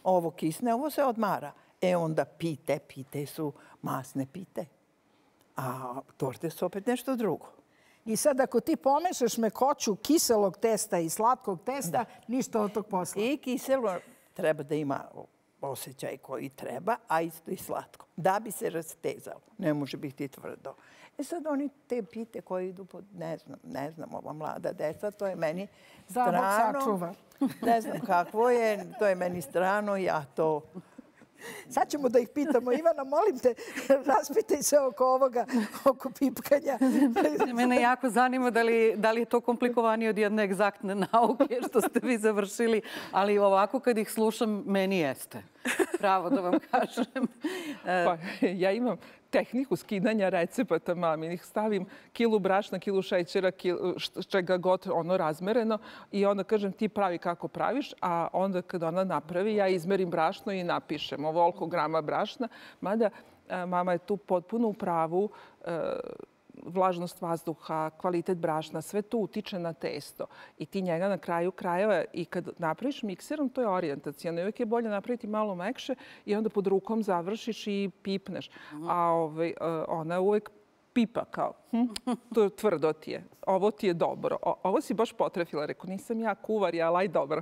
Ovo kisne, ovo se odmara. E, onda pite, pite su masne pite. A torte su opet nešto drugo. I sad ako ti pomešaš mekoću kiselog testa i slatkog testa, ništa od tog posla. I kiselo treba da ima osjećaj koji treba, a isto i slatko. Da bi se rastezalo. Ne može biti tvrdo. E sad oni te pite koje idu pod, ne znam, ne znam, ova mlada deca, to je meni strano. Ne znam kakvo je, to je meni strano, ja to... Sad ćemo da ih pitamo. Ivana, molim te, raspitaj se oko ovoga, oko pipkanja. Mene jako zanima da li, da li je to komplikovanije od jedne egzaktne nauke što ste vi završili, ali ovako kad ih slušam, meni jeste. Pravo da vam kažem. Pa, ja imam tehniku skidanja recepata maminih. Stavim kilu brašna, kilu šećera, kilu, čega god ono razmereno i onda kažem ti pravi kako praviš, a onda kad ona napravi ja izmerim brašno i napišem ovoliko grama brašna. Mada mama je tu potpuno u pravu, vlažnost vazduha, kvalitet brašna, sve to utiče na testo. I ti njega na kraju krajeva i kad napraviš mikserom, to je orijentacijalno. Uvijek je bolje napraviti malo mekše i onda pod rukom završiš i pipneš. A ovaj, ona uvijek pipa kao, hm, to tvrdo ti je, ovo ti je dobro. O, ovo si baš potrefila. Rekao, nisam ja kuvar, ja laj dobro.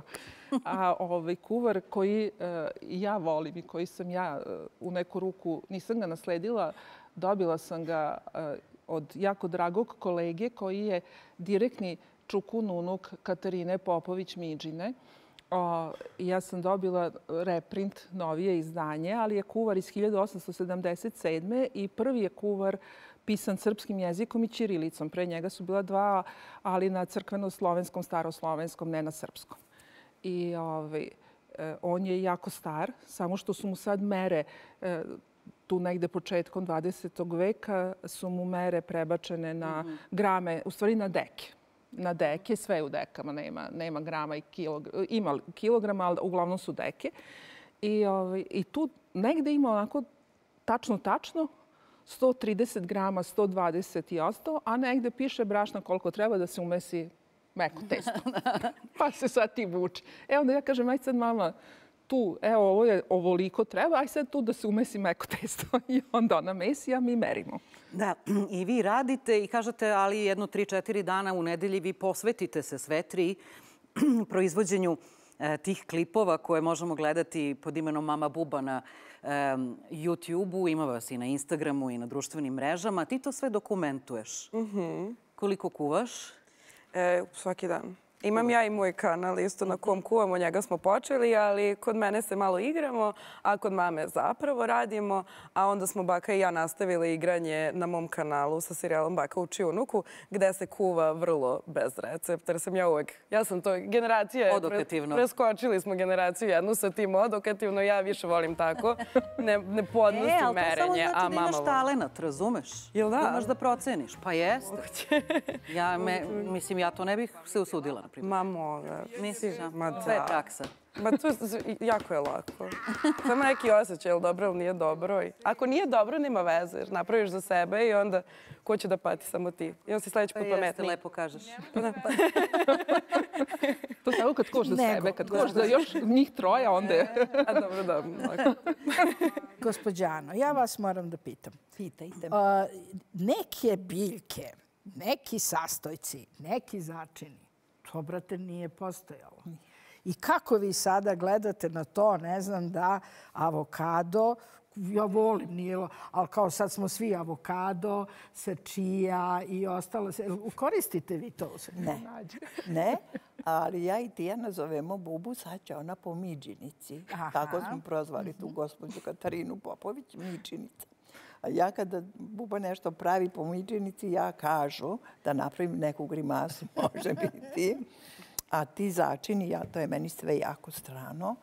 A ovaj kuvar koji uh, ja volim i koji sam ja uh, u neku ruku, nisam ga nasledila, dobila sam ga uh, od jako dragog kolege koji je direktni čukun unuk Katarine Popović-Midžine. O, ja sam dobila reprint, novije izdanje, ali je kuvar iz hiljadu osamsto sedamdeset sedme i prvi je kuvar pisan srpskim jezikom i ćirilicom. Pre njega su bila dva, ali na crkveno-slovenskom, staroslovenskom, ne na srpskom. I ovaj, on je jako star, samo što su mu sad mere, tu negde početkom dvadesetog veka su mu mere prebačene na grame, u stvari na deke. Na deke, sve u dekama, nema, nema grama i kilograma. Ima kilograma, ali uglavnom su deke. I, ovaj, i tu negde ima onako tačno, tačno sto trideset grama, sto dvadeset i ostalo, a negde piše brašna koliko treba da se umesi meko testo. Pa se sad ti vuči. E onda ja kažem, aj sad mama, tu, evo, ovo je ovoliko treba, aj sad tu da se umesi meko testo. I onda ona mesi, a mi merimo. Da, i vi radite i kažete, ali jedno tri, četiri dana u nedelji vi posvetite se sve tri proizvođenju tih klipova koje možemo gledati pod imenom Mama Buba na YouTube-u. Ima vas i na Instagramu i na društvenim mrežama. Ti to sve dokumentuješ. Koliko kuvaš? Svaki dan. Imam ja i moj kanal isto na kom kuvamo, njega smo počeli, ali kod mene se malo igramo, a kod mame zapravo radimo, a onda smo baka i ja nastavili igranje na mom kanalu sa serijalom Baka uči unuku, gde se kuva vrlo bez recepta, jer sam ja uvek, ja sam to generacija, odokativno. Preskočili smo generaciju jednu sa tim odokativno, ja više volim tako, ne, ne podnosim e, merenje, a mama... E, ali to samo znači da imaš talenat, razumeš? Jel da? Imaš da proceniš, pa jeste. Ja, me, mislim, ja to ne bih se usudila. Ma moga. Misliš, Ma da. Sve je praksa. Ma to jako je lako. Samo neki osjećaj, je li dobro ili nije dobro. Ako nije dobro, nema veze. Napraviš za sebe i onda ko će da pati, samo ti. I on si sledeći put pametniji. Jeste, lepo kažeš. To samo kad koš za sebe, kad koš za još njih troja, onda je... A dobro, dobro. Gospođano, ja vas moram da pitam. Pitajte. Neke biljke, neki sastojci, neki začini, to, brate, nije postojalo. I kako vi sada gledate na to, ne znam, da avokado, ja volim, nije, ali kao sad smo svi avokado, sačija i ostalo. Koristite vi to? Ne, ne, ali ja i Tijana zovemo Bubu, sad će ona po Midžinici. Tako smo prozvali tu gospođu Katarinu Popović, Midžinica. A ja kada Buba nešto pravi po Midžinici, ja kažu da napravim neku grimasu, može biti. A ti začini, ja, to je meni sve jako strano,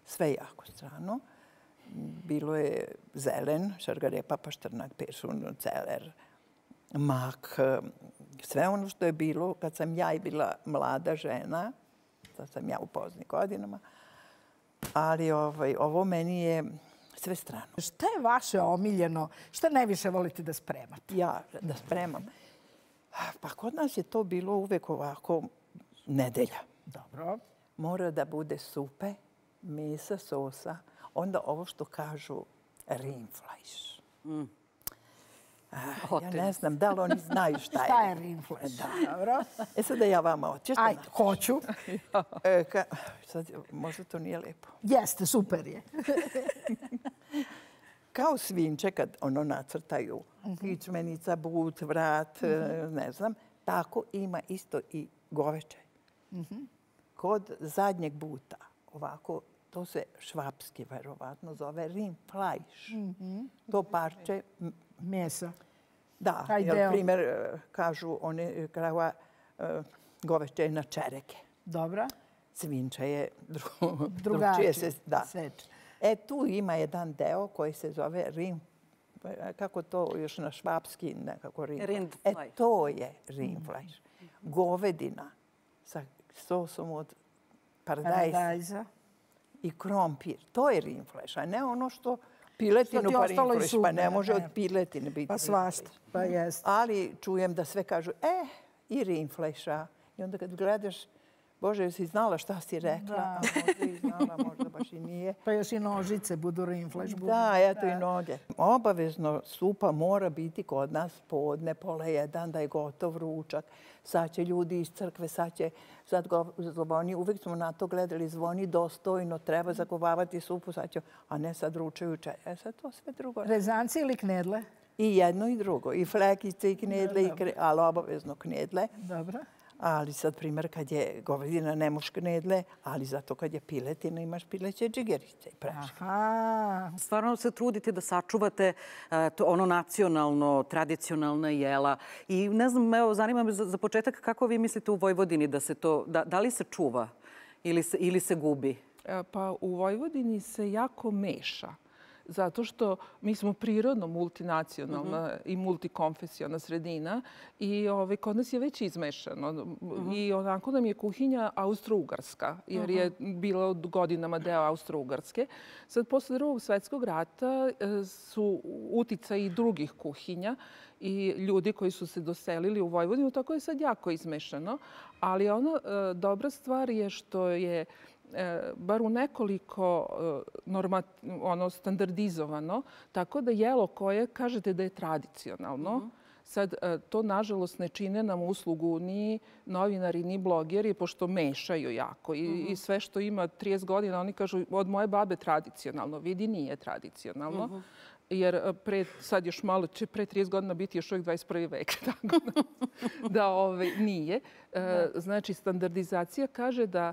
sve jako strano. Bilo je zelen, šargarepa, paštrnak, peršun, celer, mak, sve ono što je bilo kad sam ja i bila mlada žena, sad sam ja u poznim godinama, ali ovaj, ovo meni je sve strano. Šta je vaše omiljeno? Šta najviše volite da spremate? Ja da spremam. Pa kod nas je to bilo uvek ovako nedelja. Dobro. Mora da bude supe, mesa, sosa, onda ovo što kažu rinflajš. Mm. Ja ne znam da li oni znaju šta je. Šta je rinflajš? Dobro. E sad da ja vama oćeš. Ajde, hoću. E, ka, sad, možda to nije lepo. Jeste, super je. Kao svinče kad ono nacrtaju. Kičmenica, but, vrat, ne znam. Tako ima isto i goveče. Kod zadnjeg buta, ovako, to se švapski verovatno zove rinflajš. To parče mesa. Da, jer primjer kažu oni krava goveče je na čereke. Dobra. Svinče je drugačije se seče. E tu ima jedan deo koji se zove rin, kako to još na švapski nekako rin. E to je rinflajš. Govedina sa sosom od paradajza i krompir. To je rinflajš, a ne ono što piletinu pa rinflajš, pa ne može od piletine biti. Pa svašta, pa jest. Ali čujem da sve kažu, e, i rinflajša. I onda kad gledaš, Bože, jesi znala šta si rekla? A možda i znala, možda baš i nije. Pa još i nožice budu rinflajš. Da, eto i noge. Obavezno supa mora biti kod nas podne, pola jedan, da je gotov ručak. Sad će ljudi iz crkve, sad će, sad zvoni, uvijek smo na to gledali, zvoni dostojno, treba zakovavati supu, sad će, a ne sad ručaju čaj. E sad to sve drugo. Rezanci ili knedle? I jedno i drugo. I flekice, i knedle, ali obavezno knedle. Dobro. Ali sad, primjer, kad je govedina, ne moš knedle, ali zato kad je piletina, imaš pileće džigerice i preške. Stvarno se trudite da sačuvate ono nacionalno, tradicionalna jela. I ne znam, evo, zanima me za početak kako vi mislite u Vojvodini da se to, da li se čuva ili se gubi? Pa u Vojvodini se jako meša. Zato što mi smo prirodno multinacionalna i multikonfesijona sredina i kod nas je već izmešano. I onako nam je kuhinja austro-ugarska, jer je bila od godinama deo Austro-ugarske. Sad, posle drugog svjetskog rata su uticaji i drugih kuhinja i ljudi koji su se doselili u Vojvodinu, tako je sad jako izmešano. Ali ona dobra stvar je što je bar u nekoliko standardizovano, tako da jelo koje kažete da je tradicionalno, sad to nažalost ne čine nam uslugu ni novinari, ni blogeri, pošto mešaju jako. I sve što ima trideset godina, oni kažu od moje babe tradicionalno. Vidi, nije tradicionalno. Jer sad još malo će pre trideset godina biti još uvijek dvadeset prvi vek. Tako da nije. Znači, standardizacija kaže da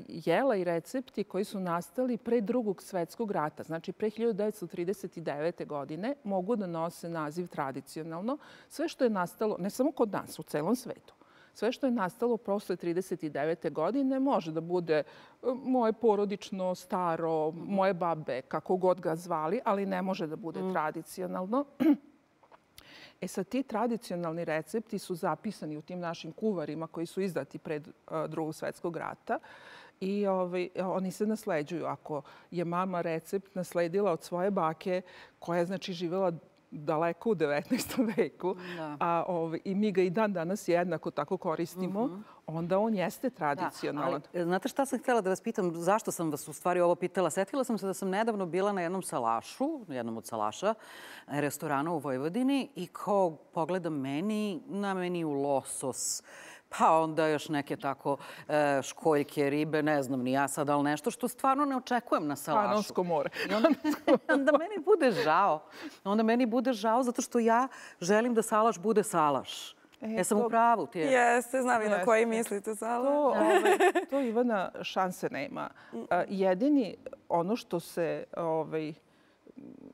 jela i recepti koji su nastali pre drugog svjetskog rata, znači pre hiljadu devetsto trideset devete. godine, mogu da nose naziv tradicionalno. Sve što je nastalo, ne samo kod nas, u celom svetu, sve što je nastalo posle trideset devete. godine može da bude moje porodično, staro, moje babe, kako god ga zvali, ali ne može da bude tradicionalno. E sad, ti tradicionalni recepti su zapisani u tim našim kuvarima koji su izdati pred drugog svjetskog rata i oni se nasleđuju. Ako je mama recept nasledila od svoje bake, koja je znači živjela daleko u devetnaestom veku, i mi ga i dan danas jednako tako koristimo, onda on jeste tradicionalan. Znate šta sam htjela da vas pitam? Zašto sam vas u stvari ovo pitala? Setila sam se da sam nedavno bila na jednom salašu, jednom od salaša, restorana u Vojvodini i kao pogledam meni, na meniju losos, pa onda još neke tako školjke, ribe, ne znam ni ja sad, ali nešto što stvarno ne očekujem na salašu. Panonsko more. Onda meni bude žao. Onda meni bude žao zato što ja želim da salaš bude salaš. Jesam u pravu? Jeste, znam i na koji mislite salaš. To Ivana šanse nema. Jedini ono što se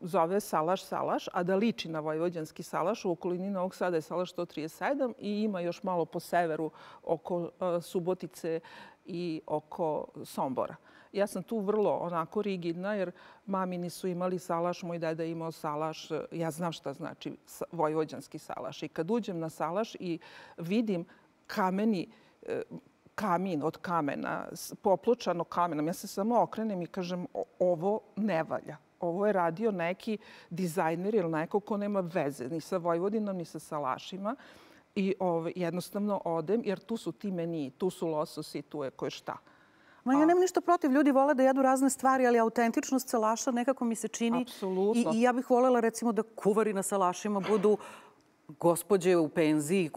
zove salaš salaš, a da liči na vojvođanski salaš. U okolini Novog Sada je salaš sto trideset sedam i ima još malo po severu oko Subotice i oko Sombora. Ja sam tu vrlo onako rigidna jer mami nisu imali salaš, moj deda je imao salaš. Ja znam šta znači vojvođanski salaš. I kad uđem na salaš i vidim kameni, kamin od kamena, popločano kamenom, ja se samo okrenem i kažem ovo ne valja. Ovo je radio neki dizajner ili neko ko nema veze ni sa Vojvodinom, ni sa salašima. I jednostavno odem jer tu su ti meniji, tu su lososi, tu je koje šta. Ma ja nemam ništa protiv. Ljudi vole da jedu razne stvari, ali autentičnost salaša nekako mi se čini. Apsolutno. I ja bih voljela recimo da kuvari na salašima budu gospođe u penziji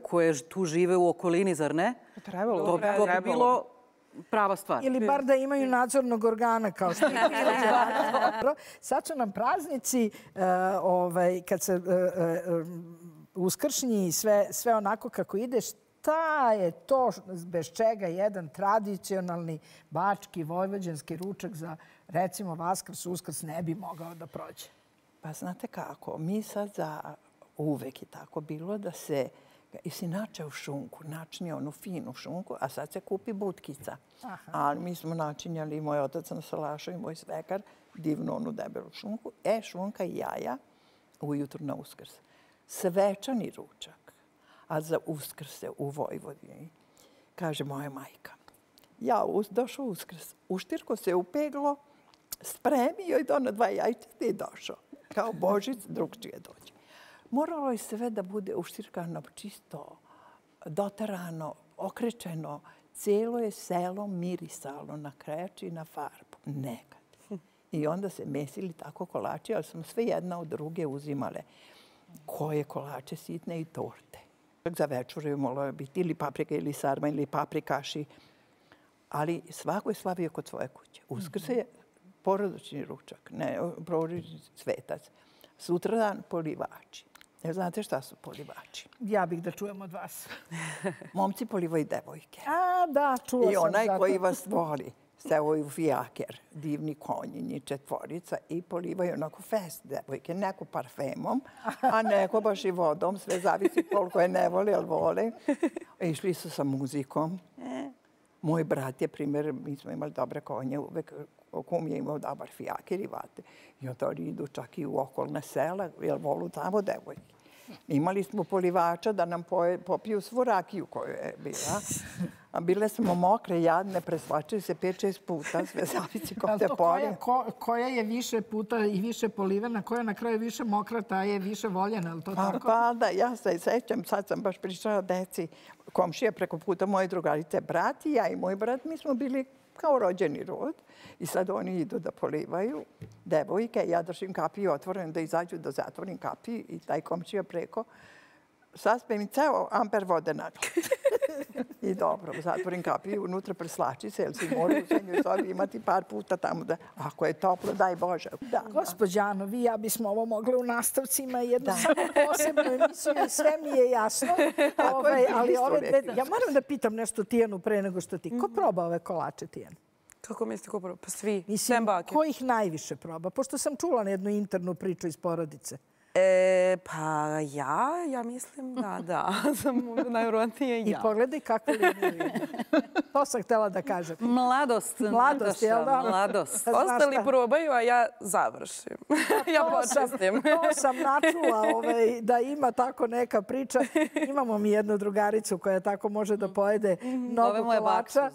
koje tu žive u okolini, zar ne? Trebalo. To bi bilo prava stvar. Ili bar da imaju nadzornog organa kao što je. Sad su nam praznici, kad se uskršnji i sve onako kako ideš, šta je to bez čega jedan tradicionalni bački, vojvođanski ručak za, recimo, Vaskrs, Uskrs ne bi mogao da prođe? Pa znate kako, mi sad za uvek je tako bilo da se i si načeo šunku, načinio onu finu šunku, a sad se kupi butkica. Ali mi smo načinjali, moj otac na salašu i moj svekar, divnu onu debelu šunku. E, šunka i jaja ujutru na Uskrs. Svečani ručak. A za Uskrse u Vojvodini, kaže moja majka, ja došao Uskrs, uštirko se upeglo, spremio i dono dva jajčeta i došao. Kao Božić, drugčije dođe. Moralo je sve da bude uštirkano čisto, doterano, okrečeno. Cijelo je selo mirisalo na kreč i na farbu. Nekad. I onda se mesili tako kolači, ali smo sve jedna od druge uzimale. Koje kolače sitne i torte. Za večer je moglo biti ili paprika ili sarma ili paprikaši. Ali svako je slavio kod svoje kuće. Uskrs je porodični ručak, ne porodični svetac. Sutradan polivači. Jel znate šta su polivači? Ja bih da čujem od vas. Momci polivaju devojke. A, da, čula sam. I onaj koji vas voli, stevaju fijaker, divni konji, njih četvorica i polivaju onako fest devojke. Neko parfemom, a neko baš i vodom. Sve zavisi koliko je ne voli, ali vole. Išli su sa muzikom. Moj brat je, primjer, mi smo imali dobre konje, uvek kum je imao dobar fijaker i vate. I onda oni idu čak i u okolne sela, jer volu tamo devojke. Imali smo polivača da nam popiju svu rakiju koju je bila. A bile smo mokre, jadne, presvačili se pet, šest puta, sve zavisi ko te polje. Koja je više puta i više polivena, koja na kraju više mokra, ta je više voljena, je li to tako? Pa da, ja se sećam, sad sam baš pričala o deci, komšija preko puta moje drugarice, brat i ja i moj brat, mi smo bili kao rođeni rod. I sad oni idu da polivaju devojke. Ja držim kapiju otvorenu da izađu da zatvorim kapiju i taj komšija preko saspe mi ceo amper vode na I dobro, zatvorim kapiju, unutra preslači se, jer si moraju u srednjoj sobi imati par puta tamo da, ako je toplo, daj Bože. Gospođano, vi ja bismo ovo mogli u nastavcima jednu samo posebnu emisiju i sve mi je jasno. Ali ja moram da pitam nešto Tijanu pre nego što ti. Ko proba ove kolače, Tijan? Kako mislite ko proba? Pa svi. Mislim, ko ih najviše proba? Pošto sam čula na jednu internu priču iz porodice. E, pa ja, ja mislim da, da. Sam najvjerojatnije ja. I pogledaj kakvu liniju. To sam htjela da kažem. Mladost. Mladost, jel da? Mladost. Ostali probaju, a ja završim. Ja počestim. To sam načula da ima tako neka priča. Imamo mi jednu drugaricu koja tako može da pojede mnogo kolača.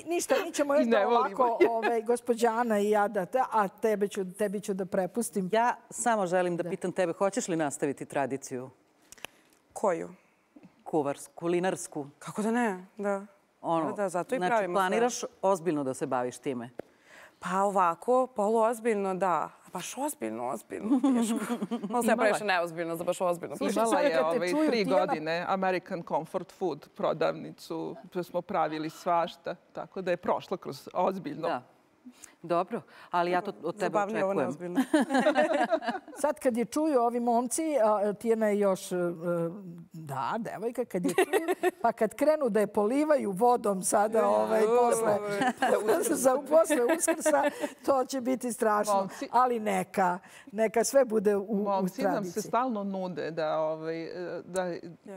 Ništa, mi ćemo još da ovako, gospođa Ana i ja, a tebi ću da prepustim. Ja samo želim da pitam tebe, hoćeš li nastaviti tradiciju? Koju? Kuvarsku, kulinarsku. Kako da ne, da. Da, zato i pravimo sve. Znači, planiraš ozbiljno da se baviš time? Pa ovako, poluozbiljno, da. Baš ozbiljno, ozbiljno, teško. Ovo se ja previše neozbiljno za baš ozbiljno. Imala je ove tri godine American Comfort Food prodavnicu. Smo pravili svašta, tako da je prošla kroz ozbiljno. Da. Dobro, ali ja to od tebe očekujem. Zabavnije ovo neozbiljno. Sad kad je čuju ovi momci, Tijana je još, da, devojka, kad je čuju, pa kad krenu da je polivaju vodom sada posle Uskrsa, to će biti strašno. Ali neka, neka sve bude u tradiciji. Momci nam se stalno nude da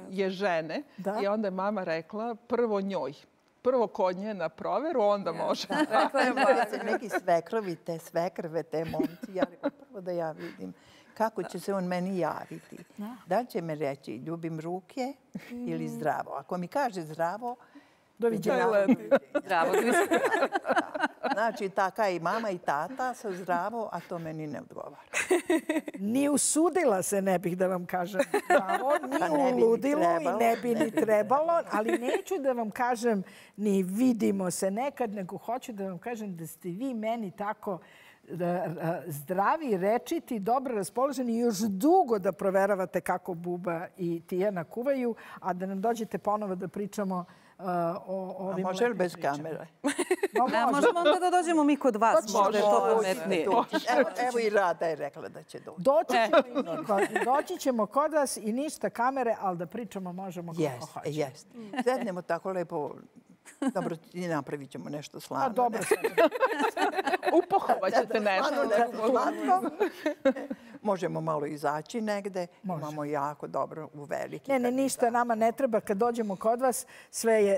je žene i onda je mama rekla prvo njoj. prvo kod nje na proveru, onda može. Neki svekrovi, te svekrve, te momci. Ja rekao, prvo da ja vidim kako će se on meni javiti. Da li će me reći ljubim ruke ili zdravo? Ako mi kaže zdravo, doviđenja. Zdravo. Znači, taka i mama i tata sa zdravo, a to meni ne odgovara. Ni usudila se, ne bih da vam kažem zdravo, ni u ludilu i ne bi ni trebalo, ali neću da vam kažem ni vidimo se nekad, nego hoću da vam kažem da ste vi meni tako zdravi, rečiti, dobro raspoloženi i još dugo da proveravate kako Buba i Tijana kuvaju, a da nam dođete ponovo da pričamo o ovim... A može li bez kamere? Možemo onda da dođemo mi kod vas, možda je to pametnije. Evo i Rada je rekla da će doći. Doći ćemo kod vas i ništa kamere, ali da pričamo možemo kako hoćemo. Jeste, jeste. Sednemo tako lepo. Dobro, i napravit ćemo nešto slavno. A dobro sad. Upohovat ćete nešto. Slatko. Možemo malo izaći negde. Imamo jako dobro u veliki. Ne, ne, ništa nama ne treba. Kad dođemo kod vas,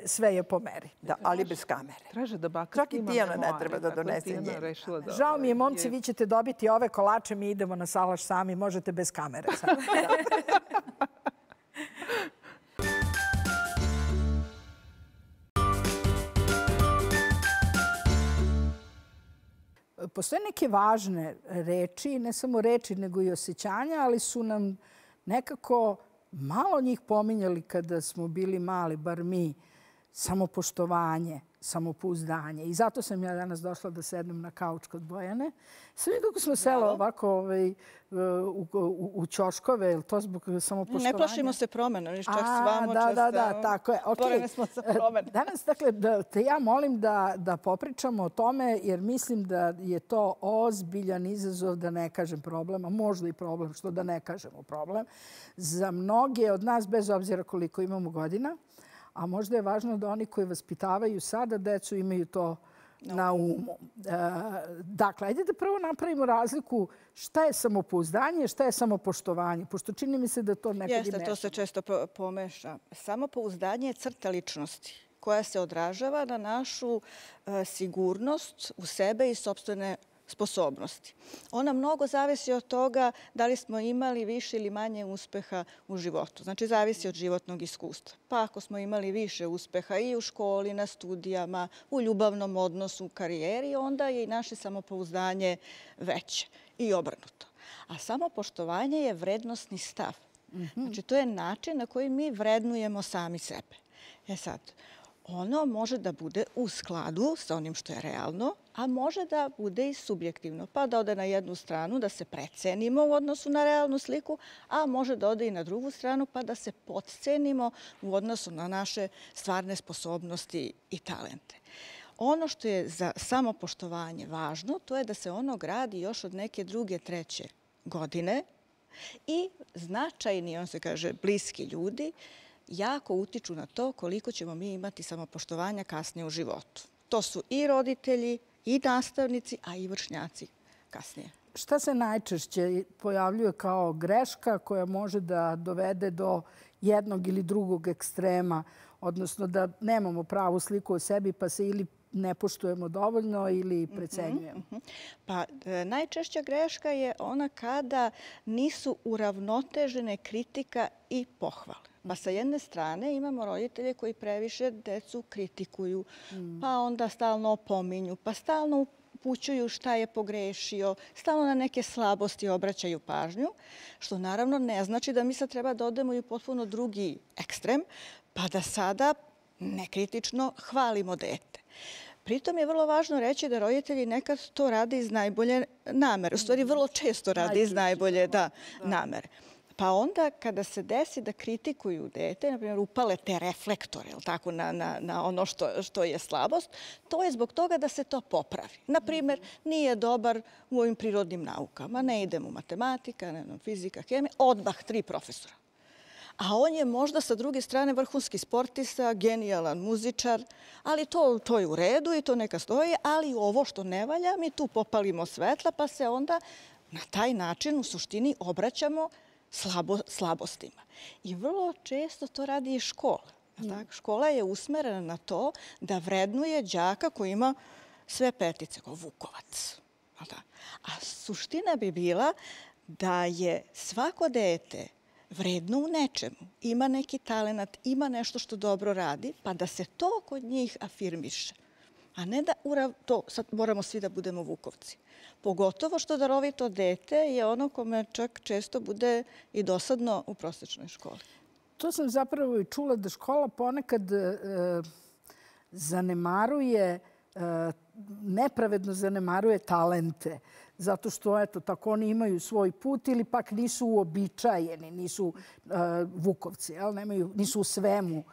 sve je po meri. Da, ali bez kamere. Traže da baka čak i Tijana ne treba da donese nje. Žao mi je, momci, vi ćete dobiti ove kolače, mi idemo na salaš sami. Možete bez kamere sad. Postoje neke važne reči, ne samo reči, nego i osjećanja, ali su nam nekako malo njih pominjali kada smo bili mali, bar mi, samopoštovanje, samopouzdanje. I zato sam ja danas došla da sednem na kauč kod Bojane. Sve kako smo sela ovako u ćoškove, je li to zbog samopoštovanja? Ne plašimo se promena, niš čak s vama često. Da, da, da, tako je. Otvoreni smo za promene. Danas, dakle, te ja molim da popričamo o tome, jer mislim da je to ozbiljan izazov, da ne kažem problem, a možda i problem, što da ne kažemo problem, za mnoge od nas, bez obzira koliko imamo godina. A možda je važno da oni koji vaspitavaju sada decu imaju to na umu. Dakle, ajde da prvo napravimo razliku šta je samopouzdanje, šta je samopoštovanje, pošto čini mi se da to nekad i meša. Jeste, to se često pomeša. Samopouzdanje je crta ličnosti koja se odražava na našu sigurnost u sebe i sopstvene sposobnosti. Ona mnogo zavisi od toga da li smo imali više ili manje uspeha u životu. Znači, zavisi od životnog iskustva. Pa ako smo imali više uspeha i u školi, na studijama, u ljubavnom odnosu, u karijeri, onda je i naše samopouzdanje veće i obrnuto. A samopoštovanje je vrednostni stav. Znači, to je način na koji mi vrednujemo sami sebe. E sad, ono može da bude u skladu sa onim što je realno, a može da bude i subjektivno. Pa da ode na jednu stranu, da se precenimo u odnosu na realnu sliku, a može da ode i na drugu stranu, pa da se podcenimo u odnosu na naše stvarne sposobnosti i talente. Ono što je za samopoštovanje važno, to je da se ono gradi još od neke druge, treće godine i značajni, on se kaže, bliski ljudi, jako utiču na to koliko ćemo mi imati samopoštovanja kasnije u životu. To su i roditelji, i nastavnici, a i vršnjaci kasnije. Šta se najčešće pojavljuje kao greška koja može da dovede do jednog ili drugog ekstrema, odnosno da nemamo pravu sliku o sebi pa se ili ne poštujemo dovoljno ili precenjujemo? Pa najčešća greška je ona kada nisu uravnotežene kritika i pohvale. Pa sa jedne strane imamo roditelje koji previše decu kritikuju, pa onda stalno opominju, pa stalno upućuju šta je pogrešio, stalno na neke slabosti obraćaju pažnju, što naravno ne znači da mi sad treba da odemo i u potpuno drugi ekstrem, pa da sada nekritično hvalimo dete. Pritom je vrlo važno reći da roditelji nekad to rade iz najbolje namere. U stvari, vrlo često rade iz najbolje namere. Pa onda kada se desi da kritikuju dete, na primjer upale te reflektore na ono što je slabost, to je zbog toga da se to popravi. Na primjer, nije dobar u ovim prirodnim naukama, ne ide mu matematika, ne fizika, hemija, odmah tri profesora. A on je možda sa druge strane vrhunski sportista, genijalan muzičar, ali to je u redu i to neka stoji, ali ovo što ne valja, mi tu popalimo svetla pa se onda na taj način u suštini obraćamo slabostima. I vrlo često to radi i škola. Škola je usmerena na to da vrednuje đaka koji ima sve petice, kao Vukovac. A suština bi bila da je svako dete vredno u nečemu, ima neki talenat, ima nešto što dobro radi, pa da se to kod njih afirmiše. A ne da to, sad moramo svi da budemo Vukovci. Pogotovo što darovito dete je ono kome čak često bude i dosadno u prosječnoj školi. To sam zapravo i čula da škola ponekad zanemaruje, nepravedno zanemaruje talente. Zato što, eto, tako oni imaju svoj put ili pak nisu uobičajeni, nisu Vukovci, nisu u svemu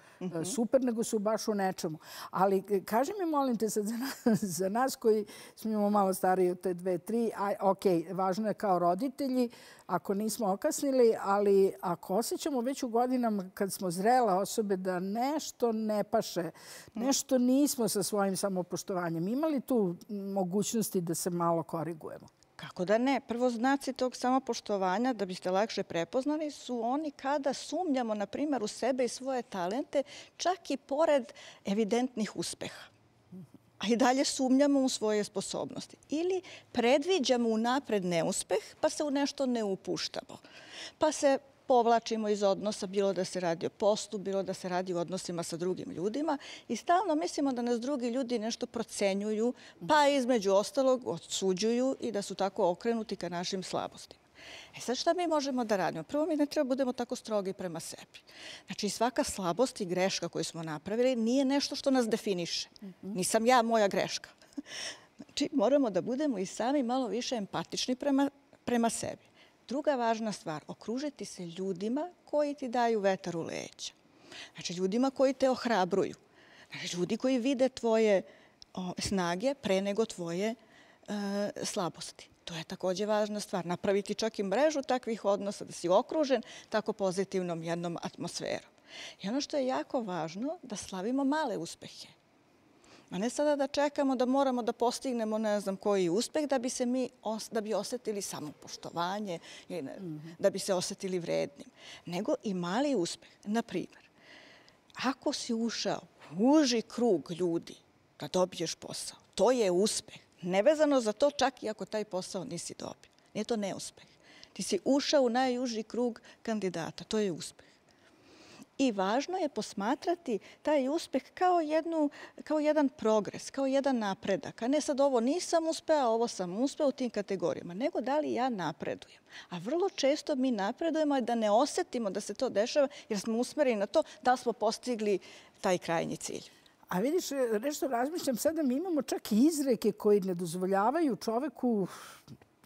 super, nego su baš u nečemu. Ali kaži mi, molim te sad za nas koji smo malo stariji od te dve, tri, ok, važno je kao roditelji, ako nismo okasnili, ali ako osjećamo već u godinama kad smo zrele osobe da nešto ne paše, nešto nismo sa svojim samopoštovanjem, ima li tu mogućnosti da se malo korigujemo? Kako da ne? Prvo, znaci tog samopoštovanja, da biste lakše prepoznali, su oni kada sumnjamo, na primjer, u sebe i svoje talente, čak i pored evidentnih uspeha. A i dalje sumnjamo u svoje sposobnosti. Ili predviđamo unapred neuspeh, pa se u nešto ne upuštamo. Pa se povlačimo iz odnosa, bilo da se radi o poslu, bilo da se radi o odnosima sa drugim ljudima i stalno mislimo da nas drugi ljudi nešto procenjuju, pa između ostalog odsuđuju i da su tako okrenuti ka našim slabostima. E sad šta mi možemo da radimo? Prvo, mi ne treba budemo tako strogi prema sebi. Znači, svaka slabost i greška koju smo napravili nije nešto što nas definiše. Nisam ja moja greška. Znači, moramo da budemo i sami malo više empatični prema sebi. Druga važna stvar, okružiti se ljudima koji ti daju vetar u leđa. Znači, ljudima koji te ohrabruju. Znači, ljudi koji vide tvoje snage pre nego tvoje slabosti. To je također važna stvar. Napraviti čak i mrežu takvih odnosa, da si okružen tako pozitivnom jednom atmosferom. I ono što je jako važno, da slavimo male uspehe. A ne sada da čekamo da moramo da postignemo ne znam koji uspeh da bi se mi da bi osjetili samopoštovanje ili da bi se osjetili vrednim. Nego i mali uspeh. Na primjer, ako si ušao u uži krug ljudi da dobiješ posao, to je uspeh. Nevezano za to čak i ako taj posao nisi dobio. Nije to neuspeh. Ti si ušao u najuži krug kandidata. To je uspeh. I važno je posmatrati taj uspeh kao, jednu, kao jedan progres, kao jedan napredak. A ne sad ovo nisam uspeo, ovo sam uspeo u tim kategorijama, nego da li ja napredujem. A vrlo često mi napredujemo da ne osjetimo da se to dešava jer smo usmereni na to da smo postigli taj krajnji cilj. A vidiš, nešto razmišljam sada, mi imamo čak i izreke koji ne dozvoljavaju čoveku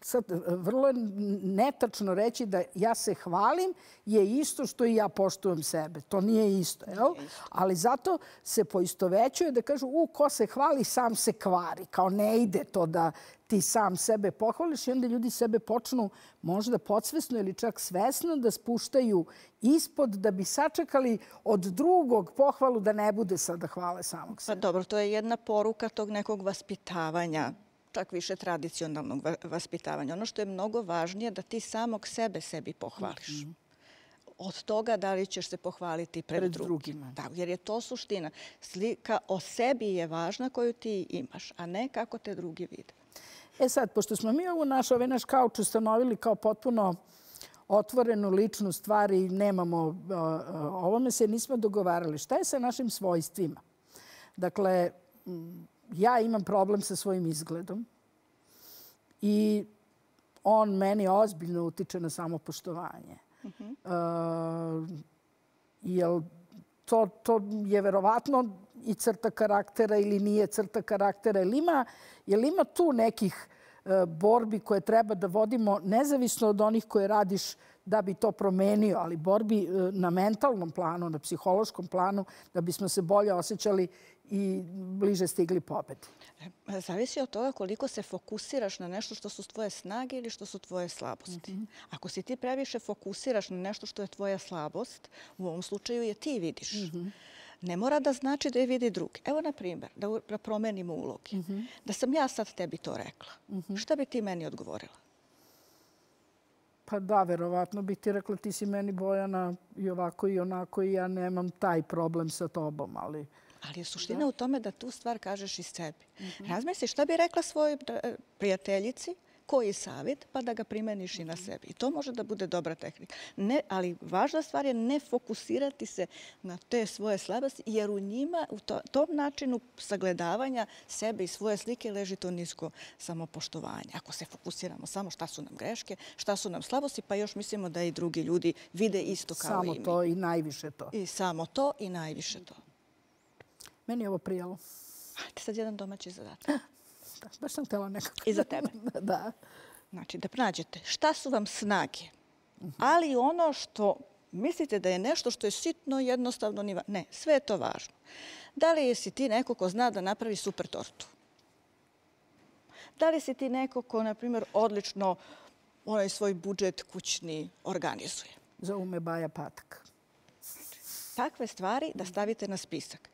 sad vrlo je netačno reći da ja se hvalim je isto što i ja poštujem sebe. To nije isto, jel? Ali zato se poistovećuje da kažu u, ko se hvali, sam se kvari. Kao ne ide to da ti sam sebe pohvališ i onda ljudi sebe počnu možda podsvesno ili čak svesno da spuštaju ispod da bi sačekali od drugog pohvalu da ne bude sada hvale samog sebe. Pa dobro, to je jedna poruka tog nekog vaspitavanja, čak više tradicionalnog vaspitavanja. Ono što je mnogo važnije da ti samog sebe sebi pohvališ. Od toga da li ćeš se pohvaliti pred, pred drugima. Da, jer je to suština. Slika o sebi je važna koju ti imaš, a ne kako te drugi vide. E sad, pošto smo mi ovu naš, ovaj naš kauč ustanovili kao potpuno otvorenu ličnu stvar i nemamo ovome se nismo dogovarali. Šta je sa našim svojstvima? Dakle, ja imam problem sa svojim izgledom i on meni ozbiljno utiče na samopoštovanje. Uh-huh. Uh, jel to, to je verovatno i crta karaktera ili nije crta karaktera? Jel ima, jel ima tu nekih uh, borbi koje treba da vodimo nezavisno od onih koje radiš da bi to promenio, ali borbi uh, na mentalnom planu, na psihološkom planu, da bismo se bolje osjećali i bliže stigli pobedi? Zavisi od toga koliko se fokusiraš na nešto što su tvoje snage ili što su tvoje slabosti. Mm-hmm. Ako si ti previše fokusiraš na nešto što je tvoja slabost, u ovom slučaju je ti vidiš. Mm-hmm. Ne mora da znači da je vidi drugi. Evo, na primjer, da promenimo uloge. Mm-hmm. Da sam ja sad tebi to rekla. Mm-hmm. Šta bi ti meni odgovorila? Pa da, verovatno bi ti rekla ti si meni Bojana i ovako i onako i ja nemam taj problem sa tobom, ali... Ali je suština u tome da tu stvar kažeš i sebi. Razmisli šta bi rekla svojoj prijateljici, koji savjet, pa da ga primeniš i na sebi. I to može da bude dobra tehnika. Ne, ali važna stvar je ne fokusirati se na te svoje slabosti, jer u njima, u to, tom načinu sagledavanja sebe i svoje slike leži to nisko samopoštovanje. Ako se fokusiramo samo šta su nam greške, šta su nam slabosti, pa još mislimo da i drugi ljudi vide isto kao samo i mi. Samo to i najviše to. I samo to i najviše to. Meni je ovo prijalo. Ajde sad jedan domaći zadatak. Da, baš sam htjela nekako. I za tebe. Da. Znači, da pronađete šta su vam snage, ali ono što mislite da je nešto što je sitno, jednostavno, ni va... ne, sve je to važno. Da li si ti neko ko zna da napravi super tortu? Da li si ti neko ko, na primjer, odlično onaj svoj budžet kućni organizuje? Zovu me Baja Patak. Takve stvari da stavite na spisak.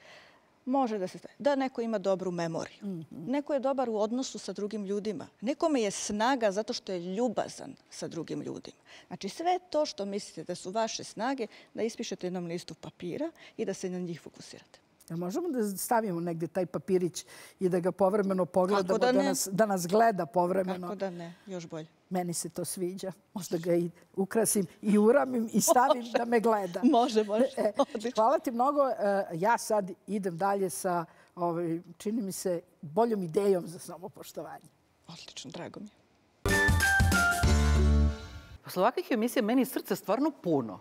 Može da se stavi. Da neko ima dobru memoriju. Mm-hmm. Neko je dobar u odnosu sa drugim ljudima. Nekome je snaga zato što je ljubazan sa drugim ljudima. Znači sve to što mislite da su vaše snage, da ispišete jednom listu papira i da se na njih fokusirate. Ja možemo da stavimo negdje taj papirić i da ga povremeno pogledamo, da, da, nas, da nas gleda povremeno? Kako da ne, još bolje. Meni se to sviđa. Možda ga i ukrasim i uramim i stavim može. Da me gleda. Može, može. E, hvala ti mnogo. Ja sad idem dalje sa, ovaj, čini mi se, boljom idejom za samopoštovanje. Odlično, drago mi je. Posle ovakvih emisija meni srce stvarno puno.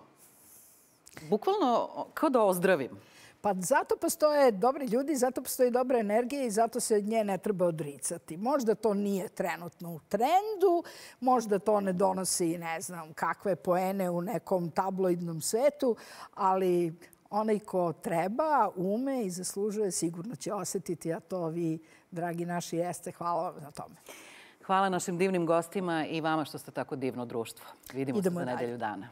Bukvalno kao da ozdravim. Pa zato postoje dobri ljudi, zato postoji dobra energija i zato se nje ne treba odricati. Možda to nije trenutno u trendu, možda to ne donosi ne znam kakve poene u nekom tabloidnom svetu, ali onaj ko treba, ume i zaslužuje, sigurno će osjetiti, a to vi, dragi naši, jeste. Hvala vam na tome. Hvala našim divnim gostima i vama što ste tako divno društvo. Vidimo se za nedelju dana.